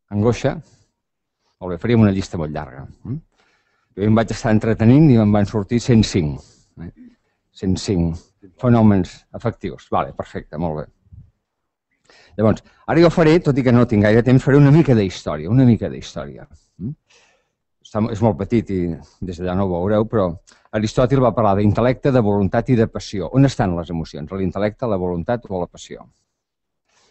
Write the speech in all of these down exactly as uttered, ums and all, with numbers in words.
Angoixa. Molt bé, faríem una llista molt llarga. Jo em vaig estar entretenint i em van sortir cent cinc. cent cinc fenòmens afectius. Vale, perfecte, molt bé. Llavors, ara jo faré, tot i que no tinc gaire temps, faré una mica d'història, una mica d'història. És molt petit i des d'allà no ho veureu, però Aristòtil va parlar d'intel·lecte, de voluntat i de passió. On estan les emocions? A l'intel·lecte, a la voluntat o a la passió?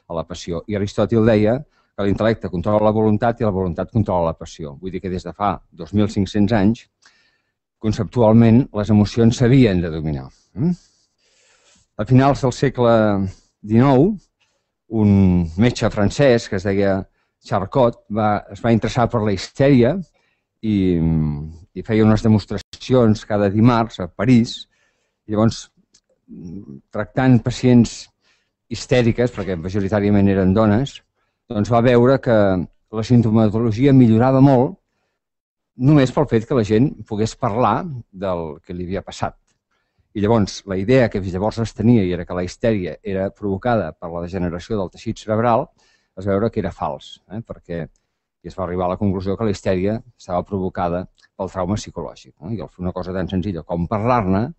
A la passió. I Aristòtil deia que l'intel·lecte controla la voluntat i la voluntat controla la passió. Vull dir que des de fa dos mil cinc-cents anys, conceptualment, les emocions s'havien de dominar. A finals del segle dinou, un metge francès que es deia Charcot es va interessar per la histèria i feia unes demostracions cada dimarts a París. I llavors, tractant pacients histèriques, perquè majoritàriament eren dones, doncs va veure que la sintomatologia millorava molt només pel fet que la gent pogués parlar del que li havia passat. I llavors, la idea que llavors es tenia i era que la histèria era provocada per la degeneració del teixit cerebral, es va veure que era fals, perquè es va arribar a la conclusió que la histèria estava provocada pel trauma psicològic. I al fer una cosa tan senzilla com parlar-ne,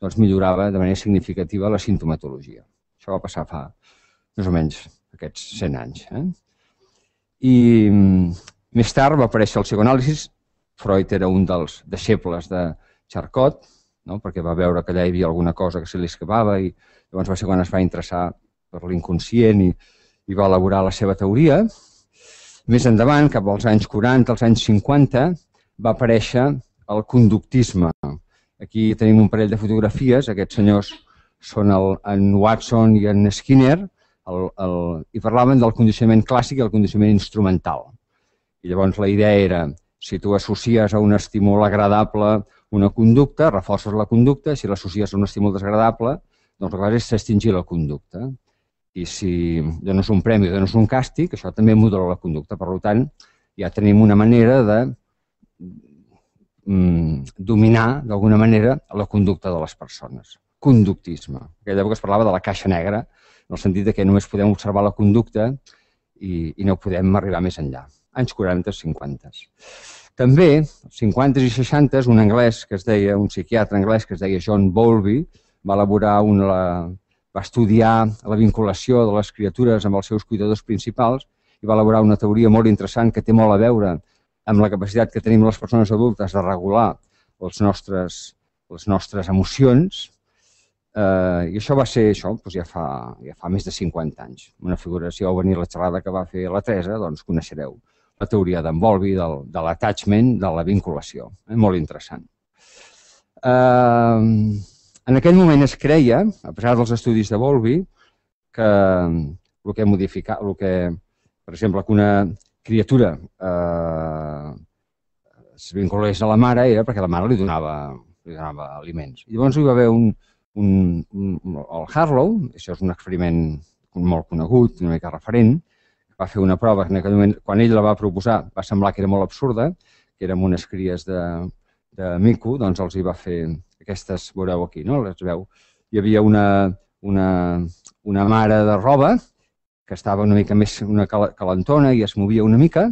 doncs millorava de manera significativa la sintomatologia. Això va passar fa més o menys aquests cent anys. I més tard va aparèixer el psicoanàlisi. Freud era un dels deixebles de Charcot, perquè va veure que allà hi havia alguna cosa que se li escapava i llavors va ser quan es va interessar per l'inconscient i va elaborar la seva teoria. Més endavant, cap als anys quaranta, als anys cinquanta, va aparèixer el conductisme. Aquí tenim un parell de fotografies. Aquests senyors són en Watson i en Skinner i parlaven del condicionament clàssic i el condicionament instrumental. I llavors la idea era, si tu associes a un estímul agradable una conducta, reforces la conducta, si l'associes a un estímul desagradable, doncs el que fas és extingir la conducta. I si dones un premi o dones un càstig, això també modula la conducta. Per tant, ja tenim una manera de dominar, d'alguna manera, la conducta de les persones. Conductisme. En aquella època es parlava de la caixa negra, en el sentit que només podem observar la conducta i no podem arribar més enllà. Anys quaranta, cinquanta. També, als cinquanta i seixanta, un anglès que es deia, un psiquiatre anglès que es deia John Bowlby, va elaborar una... va estudiar la vinculació de les criatures amb els seus cuidadors principals i va elaborar una teoria molt interessant que té molt a veure amb la capacitat que tenim les persones adultes de regular les nostres emocions. I això va ser això ja fa més de cinquanta anys. Una figura, si vau venir a la xerrada que va fer la Teresa, doncs coneixereu la teoria d'en Bowlby, de l'attachment, de la vinculació. Molt interessant. En aquell moment es creia, a pesar dels estudis de Bowlby, que el que modifica, el que, per exemple, que una criatura es vinculés a la mare era perquè la mare li donava aliments. I llavors hi va haver un, el Harlow, això és un experiment molt conegut, una mica referent, va fer una prova que en aquell moment, quan ell la va proposar, va semblar que era molt absurda, que era amb unes cries de mico, doncs els hi va fer aquestes, veureu aquí, no? Les veu. Hi havia una mare de roba que estava una mica més calentona i es movia una mica,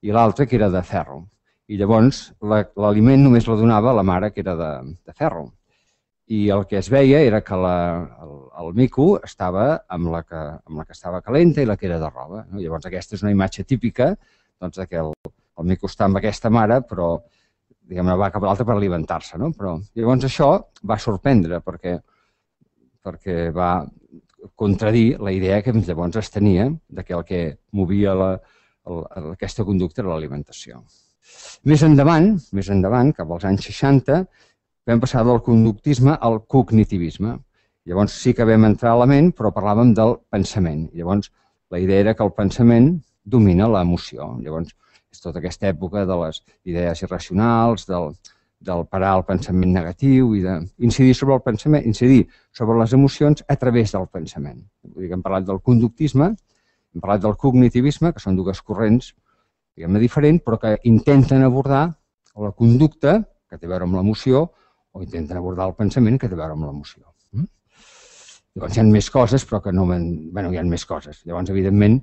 i l'altra que era de ferro. I llavors l'aliment només la donava la mare que era de ferro. I el que es veia era que el mico estava amb la que estava calenta i la que era de roba. Llavors aquesta és una imatge típica que el mico està amb aquesta mare, però diguem-ne, va cap a l'altra per alimentar-se. Llavors això va sorprendre perquè va contradir la idea que llavors es tenia que el que movia aquesta conducta era l'alimentació. Més endavant, més endavant, cap als anys seixanta, vam passar del conductisme al cognitivisme. Llavors sí que vam entrar a la ment, però parlàvem del pensament. Llavors la idea era que el pensament domina l'emoció. Llavors és tota aquesta època de les idees irracionals, del parar el pensament negatiu i d'incidir sobre el pensament, incidir sobre les emocions a través del pensament. Hem parlat del conductisme, hem parlat del cognitivisme, que són dues corrents, diguem-ne, diferents, però que intenten abordar la conducta, que té a veure amb l'emoció, o intenten abordar el pensament, que té a veure amb l'emoció. Llavors hi ha més coses, però que no... Bé, hi ha més coses. Llavors, evidentment,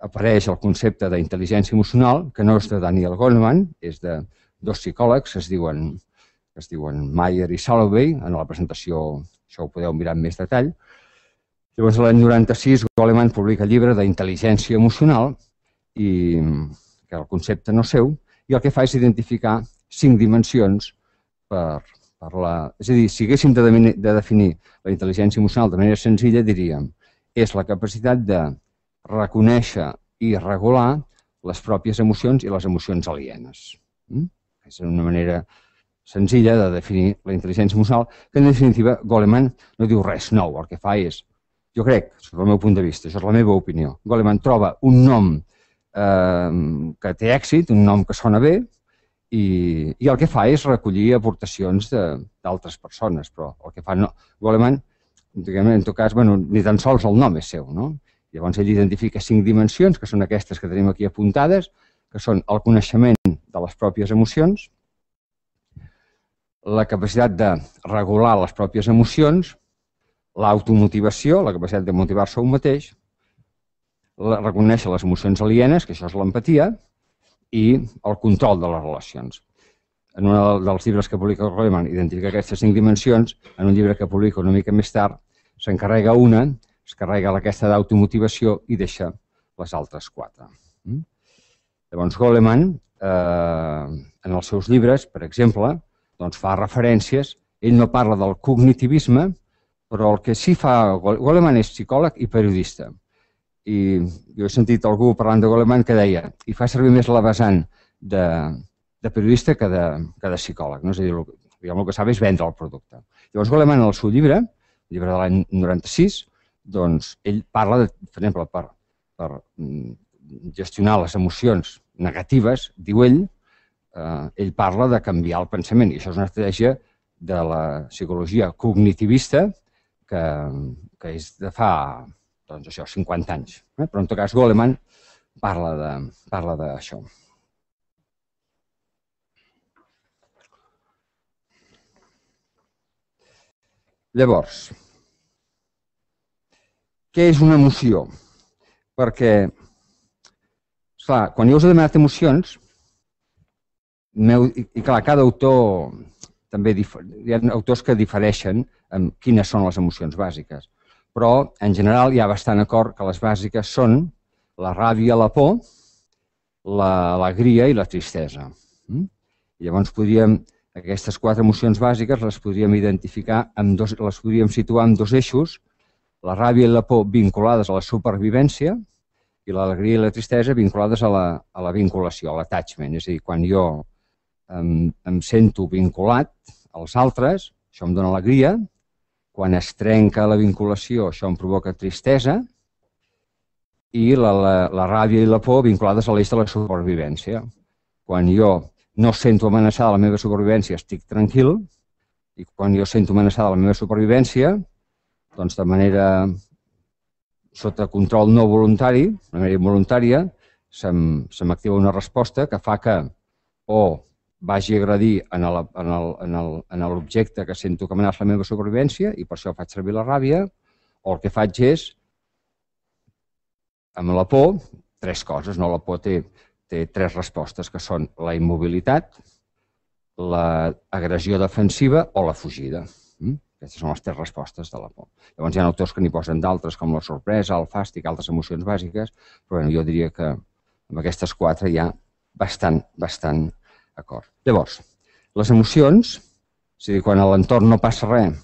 apareix el concepte d'intel·ligència emocional, que no és de Daniel Goleman, és de dos psicòlegs que es diuen, que es diuen Mayer i Salovey. En la presentació això ho podeu mirar amb més detall. Llavors, l'any noranta-sis, Goleman publica el llibre d'Intel·ligència emocional, i que el concepte no seu, i el que fa és identificar cinc dimensions per, per la... És a dir, si haguéssim de, de definir la intel·ligència emocional de manera senzilla, diríem és la capacitat de reconèixer i regular les pròpies emocions i les emocions alienes. Mm? És una manera senzilla de definir la intel·ligència emocional, que en definitiva Goleman no diu res nou. El que fa és, jo crec, sobre el meu punt de vista, això és la meva opinió, Goleman troba un nom eh, que té èxit, un nom que sona bé, i, i el que fa és recollir aportacions d'altres persones, però el que fa no, Goleman, diguem, en tot cas, bueno, ni tan sols el nom és seu, no? Llavors ell identifica cinc dimensions, que són aquestes que tenim aquí apuntades, que són el coneixement de les pròpies emocions, la capacitat de regular les pròpies emocions, l'automotivació, la capacitat de motivar-se a un mateix, la, reconèixer les emocions alienes, que això és l'empatia, i el control de les relacions. En un dels llibres que publica Goleman identifica aquestes cinc dimensions, en un llibre que publica una mica més tard s'encarrega una, es carrega aquesta d'automotivació i deixa les altres quatre. Llavors Goleman, eh, en els seus llibres, per exemple, doncs fa referències, ell no parla del cognitivisme, però el que sí fa... Goleman és psicòleg i periodista. I jo he sentit algú parlant de Goleman que deia i fa servir més la vessant de, de periodista que de, que de psicòleg. No? És a dir, el, diguem, el que sap és vendre el producte. Llavors Goleman, en el seu llibre, el llibre de l'any noranta-sis, doncs ell parla, de, per exemple, per, per gestionar les emocions negatives, diu ell, eh, ell parla de canviar el pensament, i això és una estratègia de la psicologia cognitivista que, que és de fa doncs això, cinquanta anys. Eh? Però en tot cas Goleman parla de, parla d'això. Llavors, què és una emoció? Perquè, clar, quan jo us he demanat emocions, i clar, cada autor, també hi ha autors que difereixen en quines són les emocions bàsiques, però en general hi ha bastant acord que les bàsiques són la ràbia, la por, l'alegria i la tristesa. I llavors podríem, aquestes quatre emocions bàsiques les podríem identificar, amb dos, les podríem situar en dos eixos, la ràbia i la por vinculades a la supervivència i l'alegria i la tristesa vinculades a la, a la vinculació, a l'attachment. És a dir, quan jo em, em sento vinculat als altres, això em dona alegria. Quan es trenca la vinculació, això em provoca tristesa. I la, la, la ràbia i la por vinculades a l'eix de la supervivència. Quan jo no sento amenaçada la meva supervivència, estic tranquil. I quan jo sento amenaçada la meva supervivència, doncs de manera sota control no voluntari, de manera involuntària, se m'activa una resposta que fa que o vagi a agredir en l'objecte que sento que amenaça la meva supervivència i per això faig servir la ràbia, o el que faig és, amb la por, tres coses. La por té tres respostes, que són la immobilitat, l'agressió defensiva o la fugida. Aquestes són les tres respostes de la por. Llavors hi ha autors que n'hi posen d'altres, com la sorpresa, el fàstic, altres emocions bàsiques, però jo diria que amb aquestes quatre hi ha bastant, bastant acord. Llavors, les emocions, és a dir, quan a l'entorn no passa res,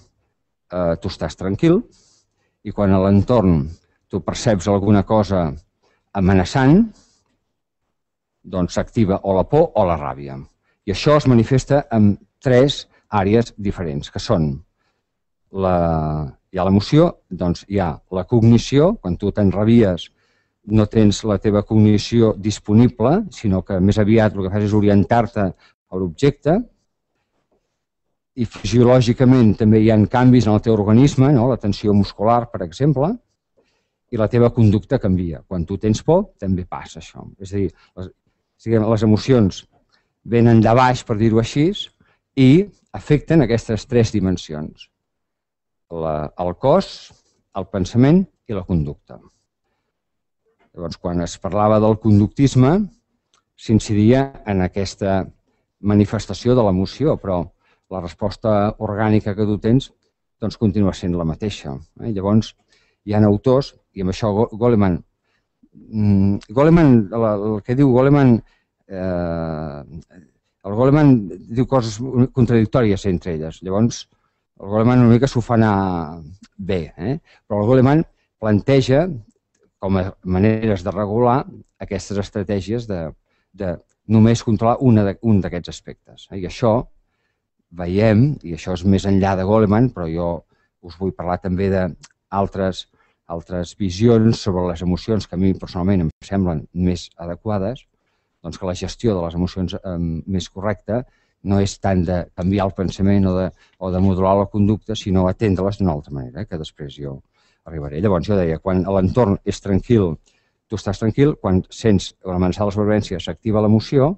tu estàs tranquil, i quan a l'entorn tu perceps alguna cosa amenaçant, doncs s'activa o la por o la ràbia. I això es manifesta en tres àrees diferents, que són hi ha l'emoció, doncs hi ha la cognició, quan tu t'enrabies no tens la teva cognició disponible, sinó que més aviat el que fas és orientar-te a l'objecte, i fisiològicament també hi ha canvis en el teu organisme, la tensió muscular, per exemple, i la teva conducta canvia. Quan tu tens por, també passa això. És a dir, les emocions venen de baix, per dir-ho així, i afecten aquestes tres dimensions: el cos, el pensament i la conducta. Llavors, quan es parlava del conductisme, s'incidia en aquesta manifestació de l'emoció, però la resposta orgànica que tu tens doncs, continua sent la mateixa. Eh? Llavors, hi ha autors, i amb això Goleman, Goleman el que diu Goleman, eh, el Goleman diu coses contradictòries entre elles. Llavors, el Goleman una mica s'ho fa anar bé, eh? Però el Goleman planteja com a maneres de regular aquestes estratègies de, de només controlar una de, un d'aquests aspectes. I això veiem, i això és més enllà de Goleman, però jo us vull parlar també d'altres altres visions sobre les emocions que a mi personalment em semblen més adequades, doncs que la gestió de les emocions eh, més correcta no és tant de canviar el pensament o de, o de modular la conducta, sinó atendre-les d'una altra manera, que després jo arribaré. Llavors jo deia, quan l'entorn és tranquil, tu estàs tranquil, quan sents l'amenaça de la supervivència s'activa l'emoció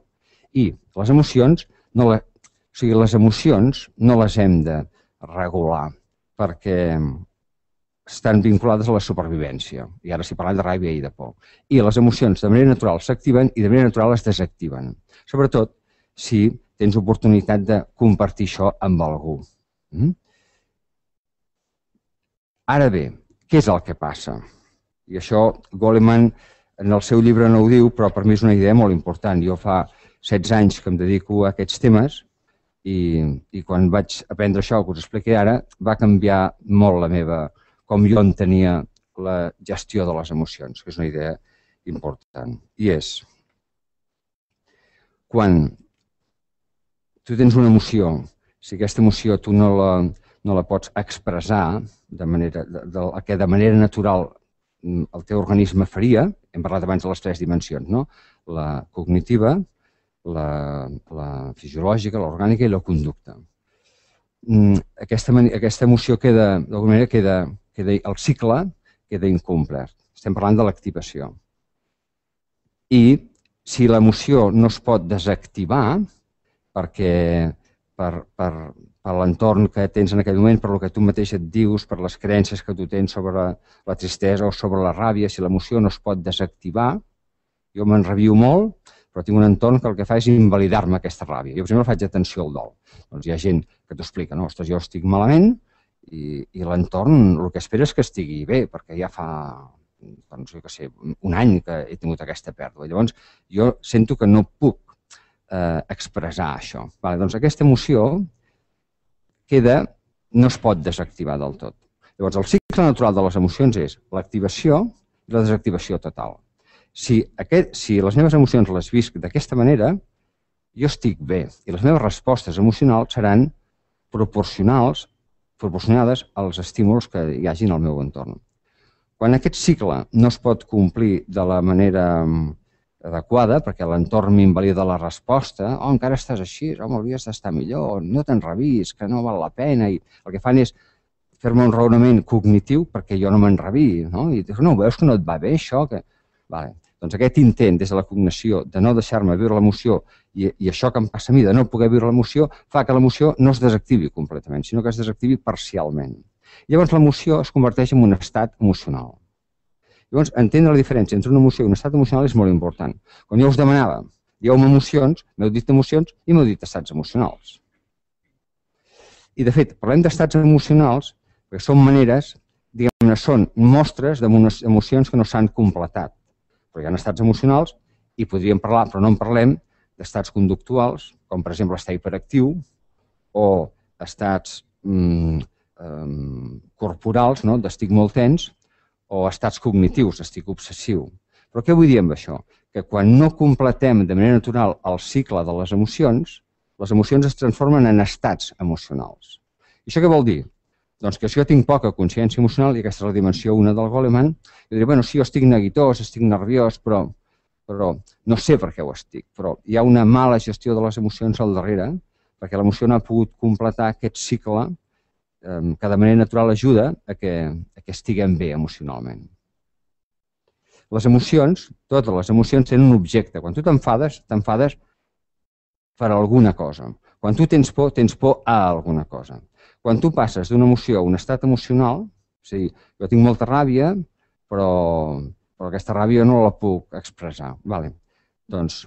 i les emocions, no la, o sigui, les emocions no les hem de regular perquè estan vinculades a la supervivència. I ara s'hi parla de ràbia i de por. I les emocions de manera natural s'activen i de manera natural es desactiven. Sobretot si tens oportunitat de compartir això amb algú. Mm? Ara bé, què és el que passa? I això Goleman en el seu llibre no ho diu, però per mi és una idea molt important. Jo fa setze anys que em dedico a aquests temes i, i quan vaig aprendre això que us expliqué ara va canviar molt la meva com jo entenia la gestió de les emocions, que és una idea important. I és, quan tu tens una emoció, si aquesta emoció tu no la, no la pots expressar de manera, de, de, que de manera natural el teu organisme faria, hem parlat abans de les tres dimensions, no? La cognitiva, la, la fisiològica, l'orgànica i la conducta. Aquesta, aquesta emoció queda, d'alguna manera, queda queda, el cicle queda incomplert. Estem parlant de l'activació. I si l'emoció no es pot desactivar perquè per, per, per l'entorn que tens en aquell moment, per el que tu mateix et dius, per les creences que tu tens sobre la tristesa o sobre la ràbia, si l'emoció no es pot desactivar, jo m'enrabio molt, però tinc un entorn que el que fa és invalidar-me aquesta ràbia. Jo, per exemple, faig atenció al dol. Doncs hi ha gent que t'ho explica, no? Ostres, jo estic malament, i, i l'entorn el que espera és que estigui bé, perquè ja fa, doncs, jo què sé, un any que he tingut aquesta pèrdua. Llavors, jo sento que no puc eh, expressar això. Vale, doncs aquesta emoció queda, no es pot desactivar del tot. Llavors, el cicle natural de les emocions és l'activació i la desactivació total. Si, aquest, si les meves emocions les visc d'aquesta manera, jo estic bé i les meves respostes emocionals seran proporcionals proporcionades als estímuls que hi hagin al meu entorn. Quan aquest cicle no es pot complir de la manera adequada, perquè l'entorn m'invalida la resposta, oh, encara estàs així, home, hauries d'estar millor, no t'enrabis, que no val la pena, i el que fan és fer-me un raonament cognitiu perquè jo no m'enrabi, no? I dius, no, veus que no et va bé això? Que... Vale. Doncs aquest intent des de la cognició de no deixar-me viure l'emoció i, i això que em passa a mi de no poder viure l'emoció fa que l'emoció no es desactivi completament, sinó que es desactivi parcialment. Llavors l'emoció es converteix en un estat emocional. Llavors entendre la diferència entre una emoció i un estat emocional és molt important. Quan jo us demanava, dieu-me emocions, m'heu dit emocions i m'heu dit estats emocionals. I de fet, parlem d'estats emocionals perquè són maneres, diguem-ne, són mostres d'emocions que no s'han completat. Però hi ha estats emocionals i podríem parlar, però no en parlem, d'estats conductuals, com per exemple estar hiperactiu, o estats mm, eh, corporals, no? D'estic molt tens, o estats cognitius, estic obsessiu. Però què vull dir amb això? Que quan no completem de manera natural el cicle de les emocions, les emocions es transformen en estats emocionals. I això què vol dir? Doncs que si jo tinc poca consciència emocional, i aquesta és la dimensió una del Goleman, jo diré, bueno, sí, jo estic neguitós, estic nerviós, però, però no sé per què ho estic. Però hi ha una mala gestió de les emocions al darrere, perquè l'emoció no ha pogut completar aquest cicle eh, que de manera natural ajuda a que, a que estiguem bé emocionalment. Les emocions, totes les emocions tenen un objecte. Quan tu t'enfades, t'enfades per alguna cosa. Quan tu tens por, tens por a alguna cosa. Quan tu passes d'una emoció a un estat emocional, és a dir, jo tinc molta ràbia, però, però aquesta ràbia no la puc expressar. Vale. Doncs,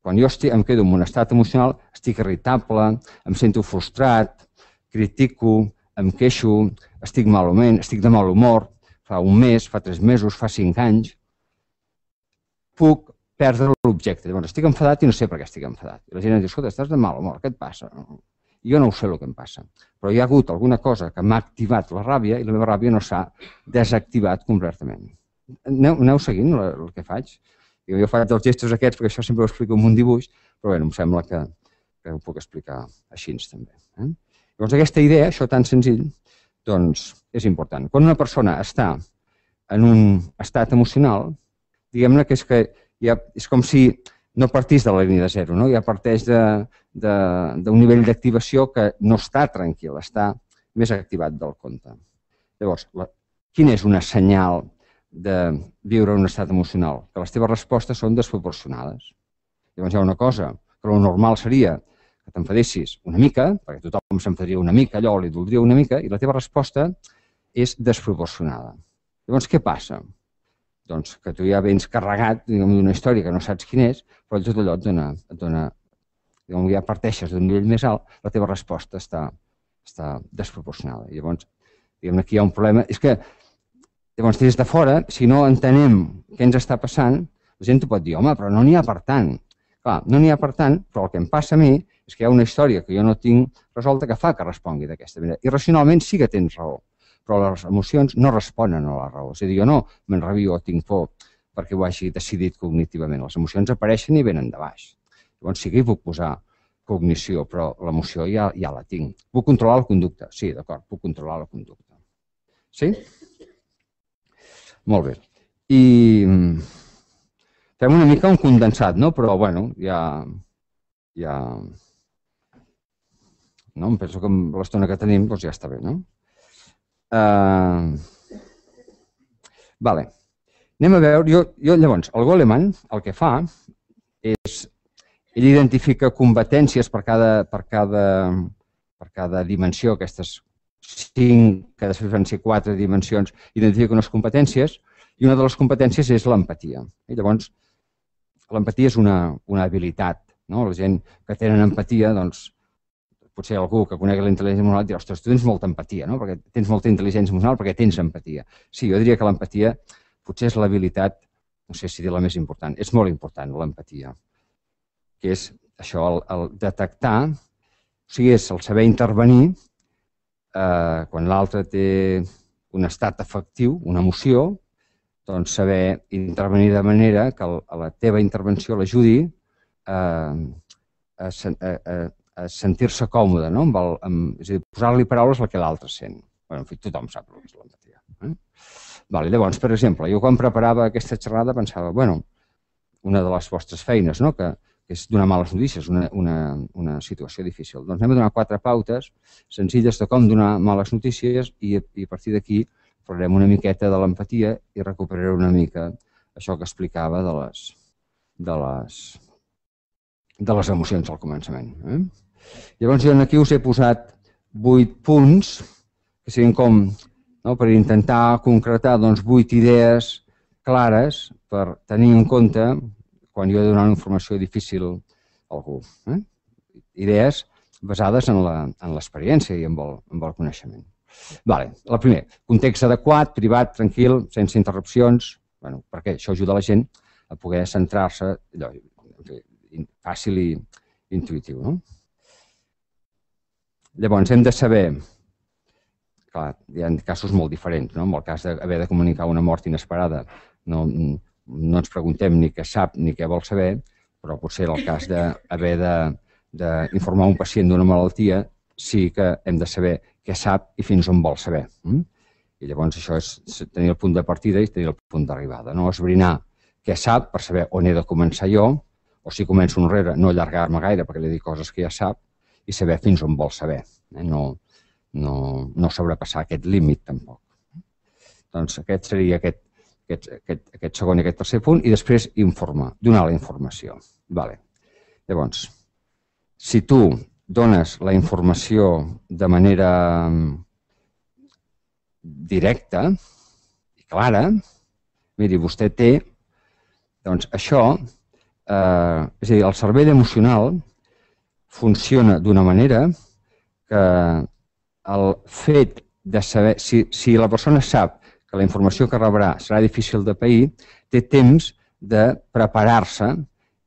quan jo estic, em quedo en un estat emocional, estic irritable, em sento frustrat, critico, em queixo, estic malament, estic de mal humor, fa un mes, fa tres mesos, fa cinc anys, puc perdre l'objecte. Llavors, estic enfadat i no sé per què estic enfadat. I la gent em diu, escolta, estàs de mal humor, què et passa? Jo no ho sé el que em passa, però hi ha hagut alguna cosa que m'ha activat la ràbia i la meva ràbia no s'ha desactivat completament. Aneu, aneu seguint el que faig? Jo faig els gestos aquests perquè això sempre ho explico amb un dibuix, però bé, em sembla que, que ho puc explicar així també. Eh? Llavors, aquesta idea, això tan senzill, doncs és important. Quan una persona està en un estat emocional, diguem-ne que és que ja, és com si no partís de la línia de zero, no? Ja parteix d'un nivell d'activació que no està tranquil, està més activat del compte. Llavors, la, quin és una senyal de viure en un estat emocional? Que les teves respostes són desproporcionades. Llavors hi ha una cosa, que el normal seria que t'enfadessis una mica, perquè tothom s'enfadaria una mica, allò li doldria una mica, i la teva resposta és desproporcionada. Llavors, què passa? Doncs que tu ja vens carregat d'una història que no saps quin és, però tot allò et dona, et dona diguem, ja parteixes d'un nivell més alt, la teva resposta està, està desproporcionada. I llavors, diguem, aquí hi ha un problema. És que, llavors, des de fora, si no entenem què ens està passant, la gent t'ho pot dir, home, però no n'hi ha per tant. Clar, no n'hi ha per tant, però el que em passa a mi és que hi ha una història que jo no tinc resolta que fa que respongui d'aquesta manera. I racionalment sí que tens raó, però les emocions no responen a la raó. És a dir, jo no m'enrabio o tinc por perquè ho hagi decidit cognitivament. Les emocions apareixen i venen de baix. Llavors sí que hi puc posar cognició, però l'emoció ja, ja la tinc. Puc controlar la conducta? Sí, d'acord, puc controlar la conducta. Sí? Molt bé. I fem una mica un condensat, no? Però, bueno, ja... ja... No? Em penso que amb l'estona que tenim doncs ja està bé, no? Uh, vale. Anem a veure, jo, jo llavors, el Goleman el que fa és, ell identifica competències per cada, per cada, per cada dimensió, aquestes cinc, que després van ser quatre dimensions, identifica unes competències, i una de les competències és l'empatia. I llavors, l'empatia és una, una habilitat, no? La gent que tenen empatia, doncs, potser algú que conegui la intel·ligència emocional dirà, ostres, tu tens molta empatia, no? Perquè tens molta intel·ligència emocional perquè tens empatia. Sí, jo diria que l'empatia potser és l'habilitat, no sé si dir la més important, és molt important l'empatia, que és això, el, el detectar, o sigui, és el saber intervenir eh, quan l'altre té un estat afectiu, una emoció, doncs saber intervenir de manera que el, a la teva intervenció l'ajudi eh, a, a, a a sentir-se còmode, no? Amb el, amb, és a dir, posar-li paraules al que l'altre sent. Bé, en fi, tothom sap el que és l'empatia. Eh? Vale, llavors, per exemple, jo quan preparava aquesta xerrada pensava, bueno, una de les vostres feines, no? que, que és donar males notícies, una, una, una situació difícil. Doncs anem a donar quatre pautes senzilles de com donar males notícies i, i a partir d'aquí parlarem una miqueta de l'empatia i recuperaré una mica això que explicava de les, de les, de les emocions al començament. Eh? Llavors, jo aquí us he posat vuit punts, que siguin com, no, per intentar concretar doncs, vuit idees clares per tenir en compte quan jo he de donar una informació difícil a algú. Eh? Idees basades en l'experiència i en el, en el coneixement. Vale, la primera, context adequat, privat, tranquil, sense interrupcions, bueno, perquè això ajuda la gent a poder centrar-se, fàcil i intuïtiu, no? Llavors, hem de saber, clar, hi ha casos molt diferents, no? En el cas d'haver de comunicar una mort inesperada, no, no ens preguntem ni què sap ni què vol saber, però potser en el cas d'haver d'informar un pacient d'una malaltia, sí que hem de saber què sap i fins on vol saber. I llavors això és tenir el punt de partida i tenir el punt d'arribada, no? Esbrinar què sap per saber on he de començar jo, o si començo enrere, no allargar-me gaire perquè li dic coses que ja sap, i saber fins on vol saber, eh? no, no, no sobrepassar aquest límit tampoc. Doncs aquest seria aquest, aquest, aquest, aquest segon i aquest tercer punt, i després informar, donar la informació. Vale. Llavors, si tu dones la informació de manera directa i clara, miri, vostè té, doncs això, eh, és a dir, el cervell emocional funciona d'una manera que el fet de saber, si, si la persona sap que la informació que rebrà serà difícil de pair, té temps de preparar-se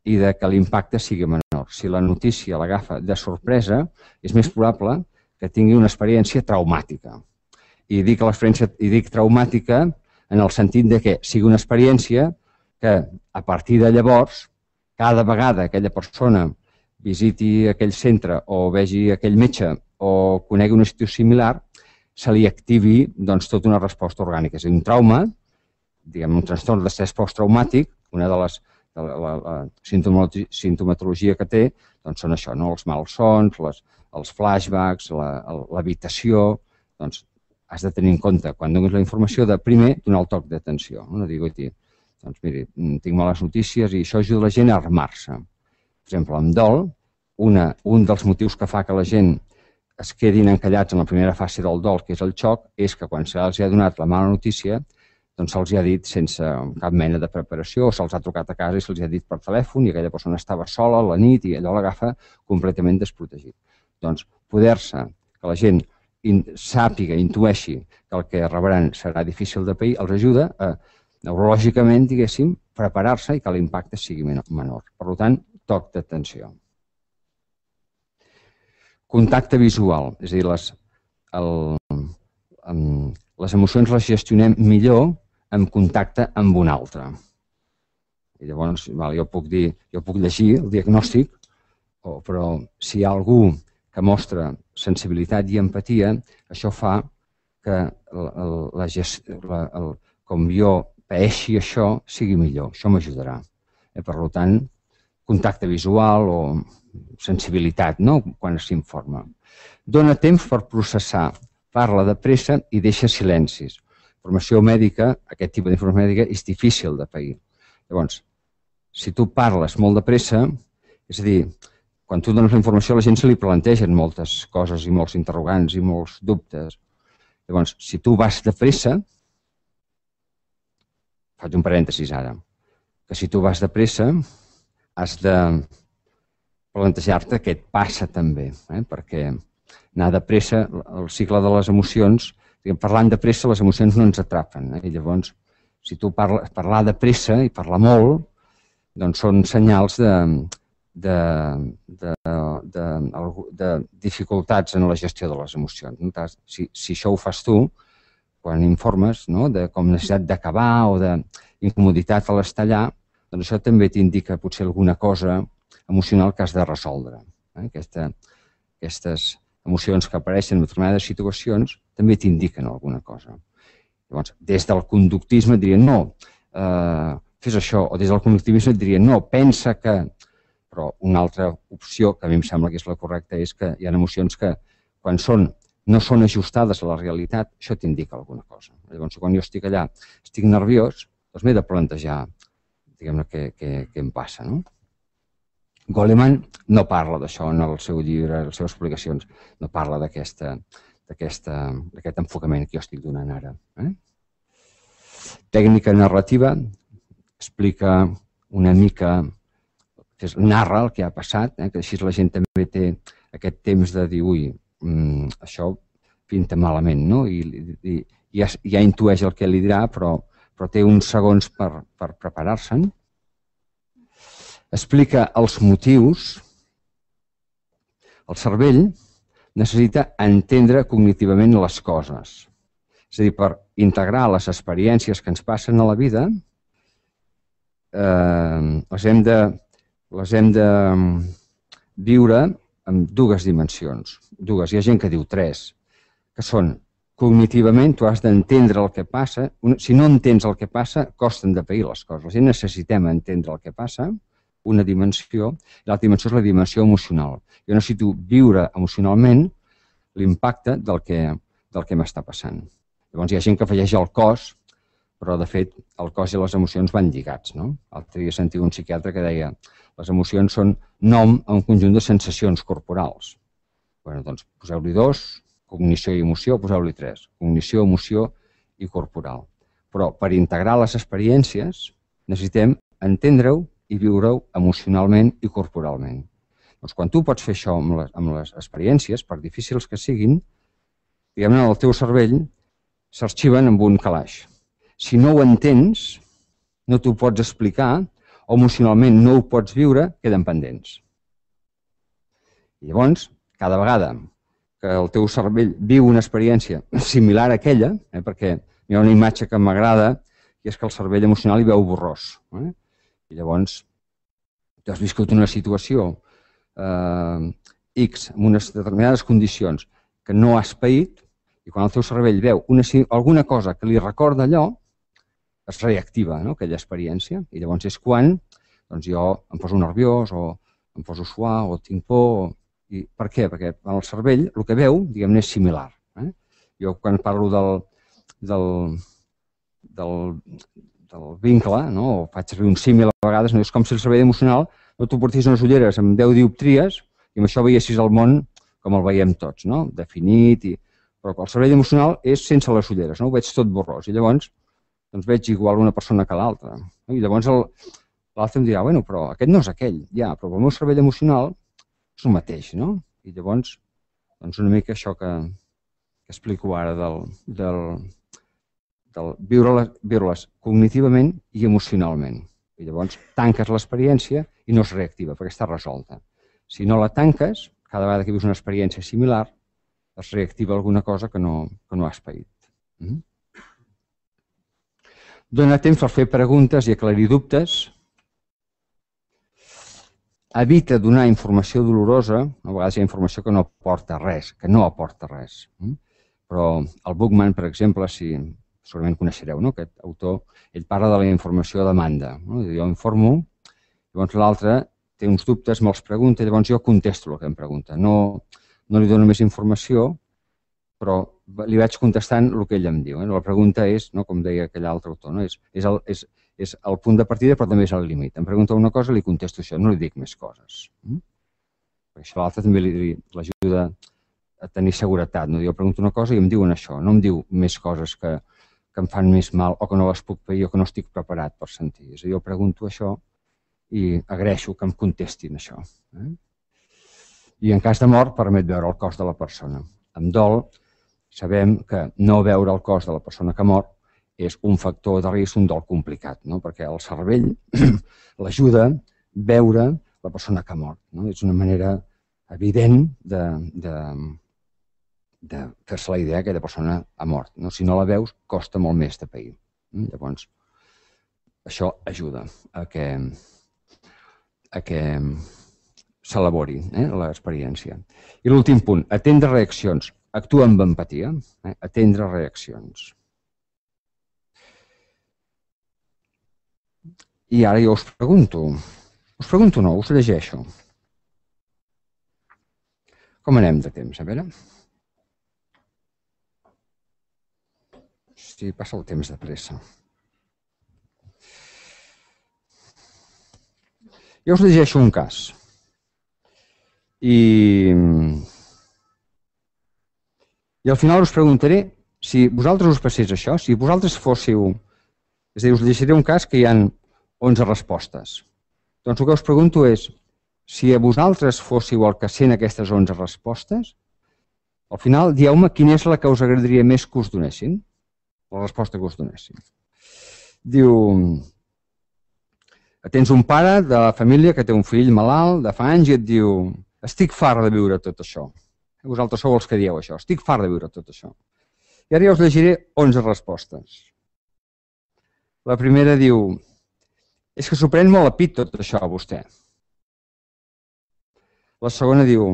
i de que l'impacte sigui menor. Si la notícia l'agafa de sorpresa, és més probable que tingui una experiència traumàtica. I dic l'experiència, i dic traumàtica en el sentit de que sigui una experiència que a partir de llavors, cada vegada aquella persona visiti aquell centre o vegi aquell metge o conegui una situació similar, se li activi doncs, tota una resposta orgànica. És a dir, un trauma, diguem, un trastorn d'estrès posttraumàtic, una de les de la, la, la sintomatologia que té, doncs són això, no? Els malsons, les, els flashbacks, l'habitació, la, doncs has de tenir en compte, quan donis la informació, de primer donar el toc d'atenció. No digui, doncs miri, tinc males notícies i això ajuda la gent a armar-se. Per exemple, amb dol, una, un dels motius que fa que la gent es quedin encallats en la primera fase del dol, que és el xoc, és que quan se'ls ha donat la mala notícia, doncs se'ls ha dit sense cap mena de preparació, o se'ls ha trucat a casa i se'ls ha dit per telèfon i aquella persona estava sola a la nit i allò l'agafa completament desprotegit. Doncs poder-se, que la gent sàpiga, intueixi que el que rebran serà difícil de pair, els ajuda a, neurològicament, diguéssim, preparar-se i que l'impacte sigui menor. Per tant, toc d'atenció. Contacte visual, és a dir, les, el, el, les emocions les gestionem millor en contacte amb un altre. I llavors, val, jo puc dir, jo puc llegir el diagnòstic, o, però si hi ha algú que mostra sensibilitat i empatia, això fa que la, la, la, el, com jo paeixi això sigui millor. Això m'ajudarà. Eh, per tant, contacte visual o sensibilitat, no?, quan s'informa. Dóna temps per processar, parla de pressa i deixa silencis. Informació mèdica, aquest tipus d'informació mèdica, és difícil de pair. Llavors, si tu parles molt de pressa, és a dir, quan tu dones la informació a la gent se li plantegen moltes coses i molts interrogants i molts dubtes. Llavors, si tu vas de pressa, faig un parèntesis ara, que si tu vas de pressa has de plantejar-te què et passa també, eh? Perquè anar de pressa, el cicle de les emocions, parlant de pressa les emocions no ens atrapen. Eh? I llavors, si tu parles, parlar de pressa i parlar molt, doncs són senyals de, de, de, de, de dificultats en la gestió de les emocions. Si, si això ho fas tu, quan informes, no?, de com necessitat d'acabar o d'incomoditat a l'estallar, doncs això també t'indica potser alguna cosa emocional que has de resoldre. Eh? Aquesta, aquestes emocions que apareixen en determinades situacions també t'indiquen alguna cosa. Llavors, des del conductisme et dirien no, eh, fes això, o des del conductivisme et dirien no, pensa que... Però una altra opció, que a mi em sembla que és la correcta, és que hi ha emocions que quan són, no són ajustades a la realitat, això t'indica alguna cosa. Llavors, quan jo estic allà, estic nerviós, doncs m'he de plantejar, diguem-ne, què, què, què em passa, no? Goleman no parla d'això en el seu llibre, en les seves publicacions, no parla d'aquest enfocament que jo estic donant ara. Eh? Tècnica narrativa explica una mica, narra el que ha passat, eh? Que així la gent també té aquest temps de dir, ui, mm, això pinta malament, no? I, i, i ja, ja intueix el que li dirà, però, però té uns segons per, per preparar-se'n. Explica els motius. El cervell necessita entendre cognitivament les coses. És a dir, per integrar les experiències que ens passen a la vida, eh, les hem de, les hem de viure en dues dimensions. Dues, hi ha gent que diu tres, que són cognitivament, tu has d'entendre el que passa. Si no entens el que passa, costen de pair les coses. La gent necessitem entendre el que passa, una dimensió, i l'altra dimensió és la dimensió emocional. Jo necessito viure emocionalment l'impacte del que, del que m'està passant. Llavors hi ha gent que afegeix el cos, però de fet el cos i les emocions van lligats. No? L'altre dia sentia un psiquiatre que deia les emocions són nom a un conjunt de sensacions corporals. Bé, doncs poseu-li dos, cognició i emoció, poseu-li tres. Cognició, emoció i corporal. Però per integrar les experiències necessitem entendre-ho i viure-ho emocionalment i corporalment. Doncs quan tu pots fer això amb les, amb les experiències, per difícils que siguin, diguem-ne, el teu cervell s'arxiven amb un calaix. Si no ho entens, no t'ho pots explicar, o emocionalment no ho pots viure, queden pendents. I llavors, cada vegada que el teu cervell viu una experiència similar a aquella, eh, perquè hi ha una imatge que m'agrada, i és que el cervell emocional hi veu borrós. Eh? I llavors, tu has viscut una situació eh, X, amb unes determinades condicions que no has paït, i quan el teu cervell veu una, alguna cosa que li recorda allò, es reactiva, no?, aquella experiència. I llavors és quan doncs jo em poso nerviós, o em poso suar, o tinc por. I per què? Perquè el cervell el que veu, diguem-ne, és similar. Eh? Jo quan parlo del, del, del, del vincle, no?, o faig servir un símil a vegades, no? És com si el cervell emocional no t'ho portis unes ulleres amb deu dioptries i amb això veiessis el món com el veiem tots, no?, definit. I... Però el cervell emocional és sense les ulleres, no? Ho veig tot borrós. I llavors doncs veig igual una persona que l'altra. No? I llavors l'altre em dirà, bueno, però aquest no és aquell, ja, però el meu cervell emocional és el mateix, no? I llavors, doncs una mica això que, que explico ara del, del, del viure-les viure cognitivament i emocionalment. I llavors tanques l'experiència i no es reactiva, perquè està resolta. Si no la tanques, cada vegada que vius una experiència similar, es reactiva alguna cosa que no, que no has paït. Mm? Dóna temps per fer preguntes i aclarir dubtes. Evita donar informació dolorosa. A vegades hi ha informació que no aporta res, que no aporta res. Però el Buchmann, per exemple, si segurament coneixereu, no?, aquest autor, ell parla de la informació a demanda. No? Jo informo, llavors l'altre té uns dubtes, me'ls pregunta, llavors jo contesto el que em pregunta. No, no li dono més informació, però li vaig contestant el que ell em diu. Eh? La pregunta és, no, com deia aquell altre autor, no? és, és, el, és, és el punt de partida, però també és el límit. Em pregunta una cosa, li contesto això, no li dic més coses. Mm? Perquè això l'altre també l'ajuda a tenir seguretat. No? Jo pregunto una cosa i em diuen això, no em diu més coses que, que em fan més mal o que no les puc pair o que no estic preparat per sentir. És a dir, jo pregunto això i agraeixo que em contestin això. Eh? I en cas de mort permet veure el cos de la persona. Amb dol sabem que no veure el cos de la persona que mor és un factor de risc, un dol complicat, no? Perquè el cervell l'ajuda a veure la persona que ha mort. No? És una manera evident de, de, de fer-se la idea que aquella persona ha mort. No? Si no la veus, costa molt més de pair. Llavors, això ajuda a que, a que s'elabori eh, l'experiència. I l'últim punt, atendre reaccions. Actua amb empatia, eh? Atendre reaccions. I ara jo us pregunto, us pregunto no, us llegeixo. Com anem de temps? A veure. Sí, passa el temps de pressa. Jo us llegeixo un cas. I... I al final us preguntaré si vosaltres us passés això, si vosaltres fóssiu... És a dir, us llegiré un cas que hi ha onze respostes. Doncs el que us pregunto és, si a vosaltres fóssiu el que sent aquestes onze respostes, al final dieu-me quina és la que us agradaria més que us donessin, la resposta que us donessin. Diu, tens un pare de la família que té un fill malalt de fa anys i et diu, estic fart de viure tot això. Vosaltres sou els que dieu això. Estic fart de viure tot això. I ara ja us llegiré onze respostes. La primera diu, és que s'ho pren molt a pit tot això a vostè. La segona diu,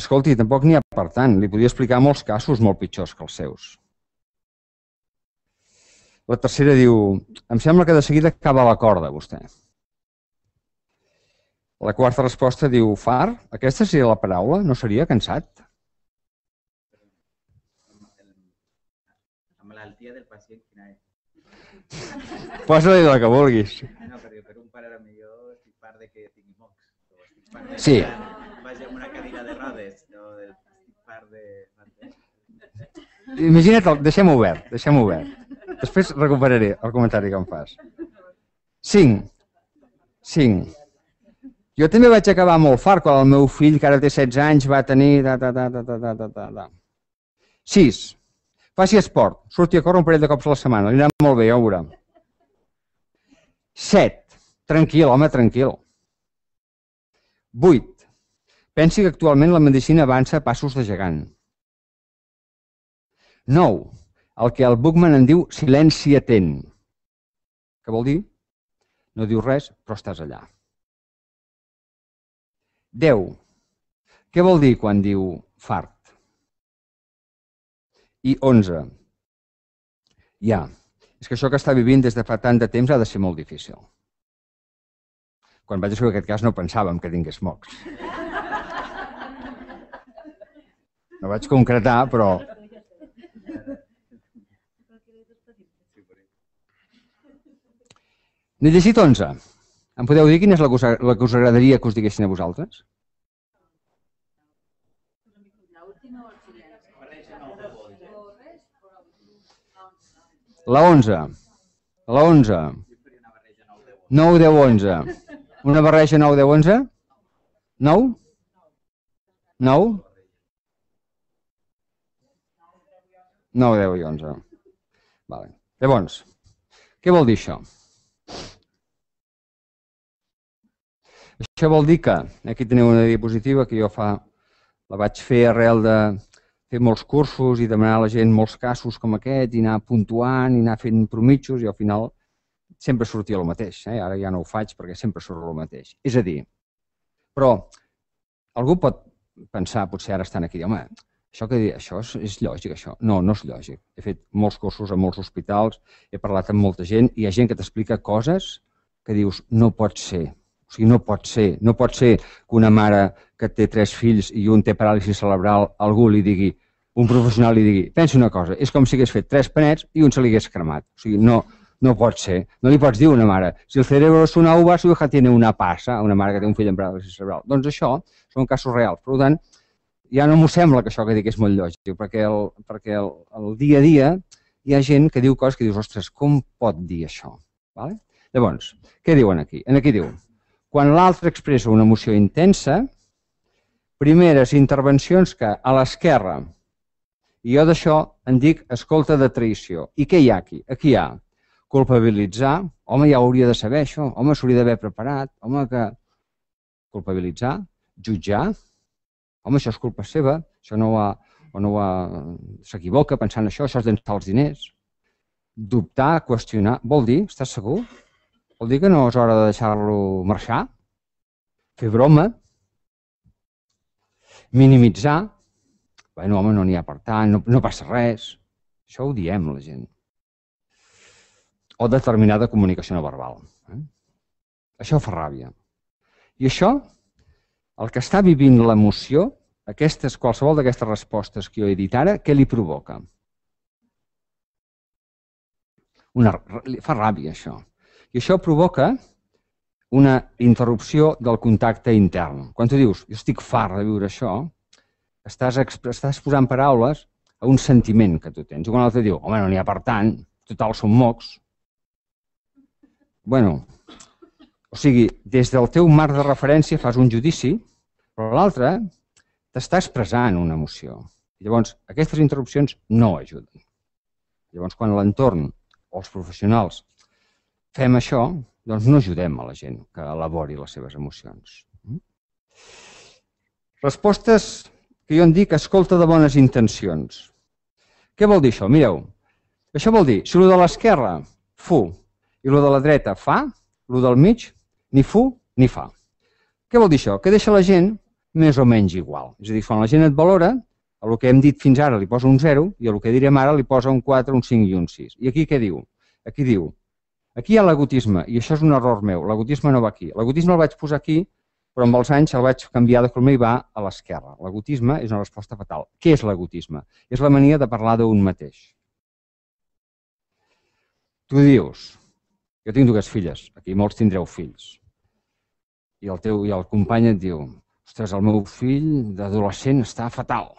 escolti, tampoc n'hi ha per tant. Li podria explicar molts casos molt pitjors que els seus. La tercera diu, em sembla que de seguida acaba la corda, vostè. La quarta resposta diu, fart? Aquesta seria la paraula? No seria cansat? La malaltia del pacient, quina és? Posa-li la que vulguis. No, perquè per un pare era millor estic fart de que tingui mocs. Estic fart de Sí. que vagi amb una cadira de rodes. O estic fart de... Imagina't, deixem-ho obert, deixem-ho obert. Després recuperaré el comentari que em fas. Cinc. Cinc. Jo també vaig acabar molt fart quan el meu fill, que ara té setze anys, va tenir... Da, da, da, da, da, da, da, da. Sis. Faci esport. Surti a córrer un parell de cops a la setmana. Li anirà molt bé, ja ho veurà. Set. Tranquil, home, tranquil. Vuit. Pensi que actualment la medicina avança a passos de gegant. Nou. El que el Buchmann en diu silenci atent. Què vol dir? No diu res, però estàs allà. Deu. Què vol dir quan diu fart? I onze. Ja. És que això que està vivint des de fa tant de temps ha de ser molt difícil. Quan vaig descobrir aquest cas no pensàvem que tingués mocs. No vaig concretar, però... N'he llegit onze. Em podeu dir quina és la que us, la que us agradaria que us diguessin a vosaltres? La onze. La onze. nou, deu, onze. Una barreja nou, deu, onze? nou? nou? nou, deu i onze. Vale. Llavors, què vol dir això? Això vol dir que, aquí teniu una diapositiva que jo fa, la vaig fer arrel de fer molts cursos i demanar a la gent molts casos com aquest i anar puntuant i anar fent promitjos i al final sempre sortia el mateix. Eh? Ara ja no ho faig perquè sempre surt el mateix. És a dir, però algú pot pensar, potser ara estan aquí, home, això que això és, és lògic, això. No, no és lògic. He fet molts cursos a molts hospitals, he parlat amb molta gent i hi ha gent que t'explica coses que dius, no pot ser. O sigui, no pot ser. No pot ser que una mare que té tres fills i un té paràlisi cerebral, algú li digui, un professional li digui, pensi una cosa, és com si hagués fet tres panets i un se li hagués cremat. O sigui, no, no pot ser. No li pots dir a una mare, si el cerebro es una uva, su hija tiene una passa, una mare que té un fill amb paràlisi cerebral. Doncs això són casos reals. Per tant, ja no m'ho sembla que això que dic és molt lògic, perquè, el, perquè el, el dia a dia hi ha gent que diu coses que dius, ostres, com pot dir això? Vale? Llavors, què diuen aquí? Aquí diu, quan l'altre expressa una emoció intensa, primeres intervencions que a l'esquerra, i jo d'això en dic escolta de traïció. I què hi ha aquí? Aquí hi ha culpabilitzar, home, ja hauria de saber això, home, s'hauria d'haver preparat, home, que... Culpabilitzar, jutjar, home, això és culpa seva, això no ho ha... o no ho ha... s'equivoca pensant això, això és d'ençar els diners. Dubtar, qüestionar, vol dir, estàs segur? Vol dir que no és hora de deixar-lo marxar? Fer broma? Minimitzar? Bueno, home, no n'hi ha per tant, no, no passa res. Això ho diem, la gent. O determinada comunicació no verbal. Eh? Això fa ràbia. I això, el que està vivint l'emoció, aquestes, qualsevol d'aquestes respostes que jo he dit ara, què li provoca? Una, fa ràbia, això. I això provoca una interrupció del contacte intern. Quan tu dius, jo estic fart de viure això, estàs, estàs posant paraules a un sentiment que tu tens. I quan l'altre diu, home, no n'hi ha per tant, total, són mocs. Bueno, o sigui, des del teu marc de referència fas un judici, però l'altre t'està expressant una emoció. I llavors, aquestes interrupcions no ajuden. Llavors, quan l'entorn o els professionals fem això, doncs no ajudem a la gent que elabori les seves emocions. Respostes que jo en dic escolta de bones intencions. Què vol dir això? Mireu, això vol dir, si el de l'esquerra fu i el de la dreta fa, el del mig ni fu ni fa. Què vol dir això? Que deixa la gent més o menys igual. És a dir, quan la gent et valora, a el que hem dit fins ara li posa un zero i a el que direm ara li posa un quatre, un cinc i un sis. I aquí què diu? Aquí diu, aquí hi ha l'agotisme, i això és un error meu, l'agotisme no va aquí. L'agotisme el vaig posar aquí, però amb els anys el vaig canviar de color i va a l'esquerra. L'agotisme és una resposta fatal. Què és l'agotisme? És la mania de parlar d'un mateix. Tu dius, jo tinc dues filles, aquí molts tindreu fills, i el teu i el company et diu, ostres, el meu fill d'adolescent està fatal.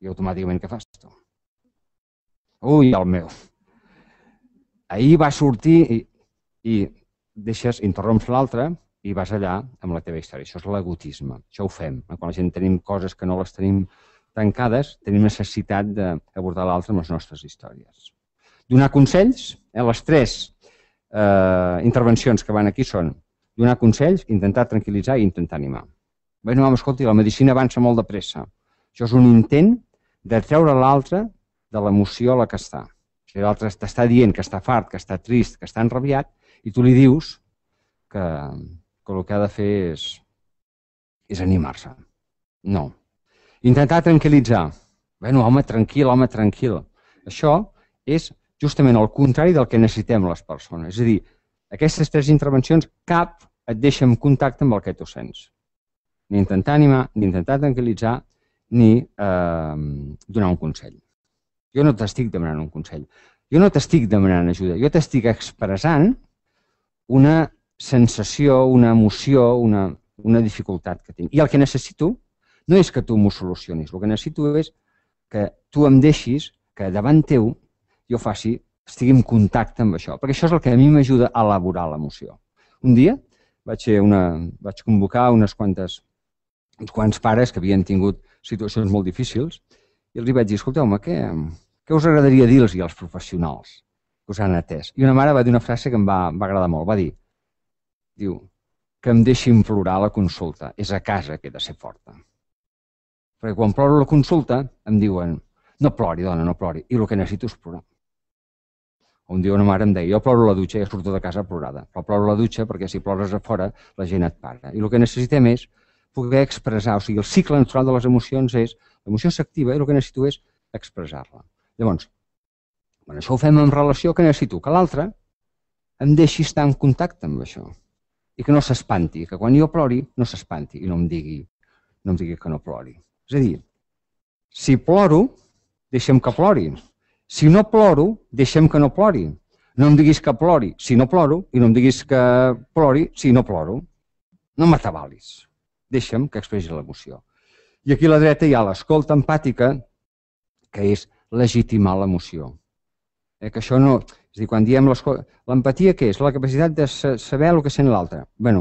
I automàticament què fas tu? Ui, el meu. ahir va sortir i, i deixes, interromps l'altre i vas allà amb la teva història. Això és l'egotisme. Això ho fem. Quan la gent tenim coses que no les tenim tancades, tenim necessitat d'abordar l'altre amb les nostres històries. Donar consells, eh, les tres eh, intervencions que van aquí són donar consells, intentar tranquil·litzar i intentar animar. Bé, no, escolti, la medicina avança molt de pressa. Això és un intent de treure l'altre de l'emoció a la que està. O sigui, l'altre t'està dient que està fart, que està trist, que està enrabiat, i tu li dius que, que el que ha de fer és, és animar-se. No. Intentar tranquil·litzar. Bé, no, home, tranquil, home, tranquil. Això és justament el contrari del que necessitem les persones. És a dir, aquestes tres intervencions, cap et deixa en contacte amb el que tu sents. Ni intentar animar, ni intentar tranquil·litzar, ni eh, donar un consell. Jo no t'estic demanant un consell. Jo no t'estic demanant ajuda. Jo t'estic expressant una sensació, una emoció, una, una dificultat que tinc. I el que necessito no és que tu m'ho solucionis. El que necessito és que tu em deixis que davant teu jo faci, estigui en contacte amb això. Perquè això és el que a mi m'ajuda a elaborar l'emoció. Un dia vaig, fer una, vaig convocar unes quantes, uns quants pares que havien tingut situacions molt difícils i els vaig dir, escolteu-me, què, què us agradaria dir-los als professionals que us han atès? I una mare va dir una frase que em va, va agradar molt. Va dir, diu, que em deixin plorar a la consulta. És a casa que he de ser forta. Perquè quan ploro a la consulta em diuen, no plori, dona, no plori. I el que necessito és plorar. Un dia una mare em deia, jo ploro a la dutxa i surto de casa plorada. Però ploro a la dutxa perquè si plores a fora la gent et para. I el que necessitem és poder expressar. O sigui, el cicle natural de les emocions és, l'emoció s'activa i el que necessito és expressar-la. Llavors, quan això ho fem en relació, què necessito? Que l'altre em deixi estar en contacte amb això. I que no s'espanti, que quan jo plori no s'espanti i no em digui, no em digui que no plori. És a dir, si ploro, deixa'm que plori. Si no ploro, deixa'm que no plori. No em diguis que plori si no ploro i no em diguis que plori si no ploro. No m'atabalis. Deixa'm que expressi l'emoció. I aquí a la dreta hi ha l'escolta empàtica, que és legitimar l'emoció. Eh, que això no... És a dir, quan diem l'empatia, què és? La capacitat de saber el que sent l'altre. Bé,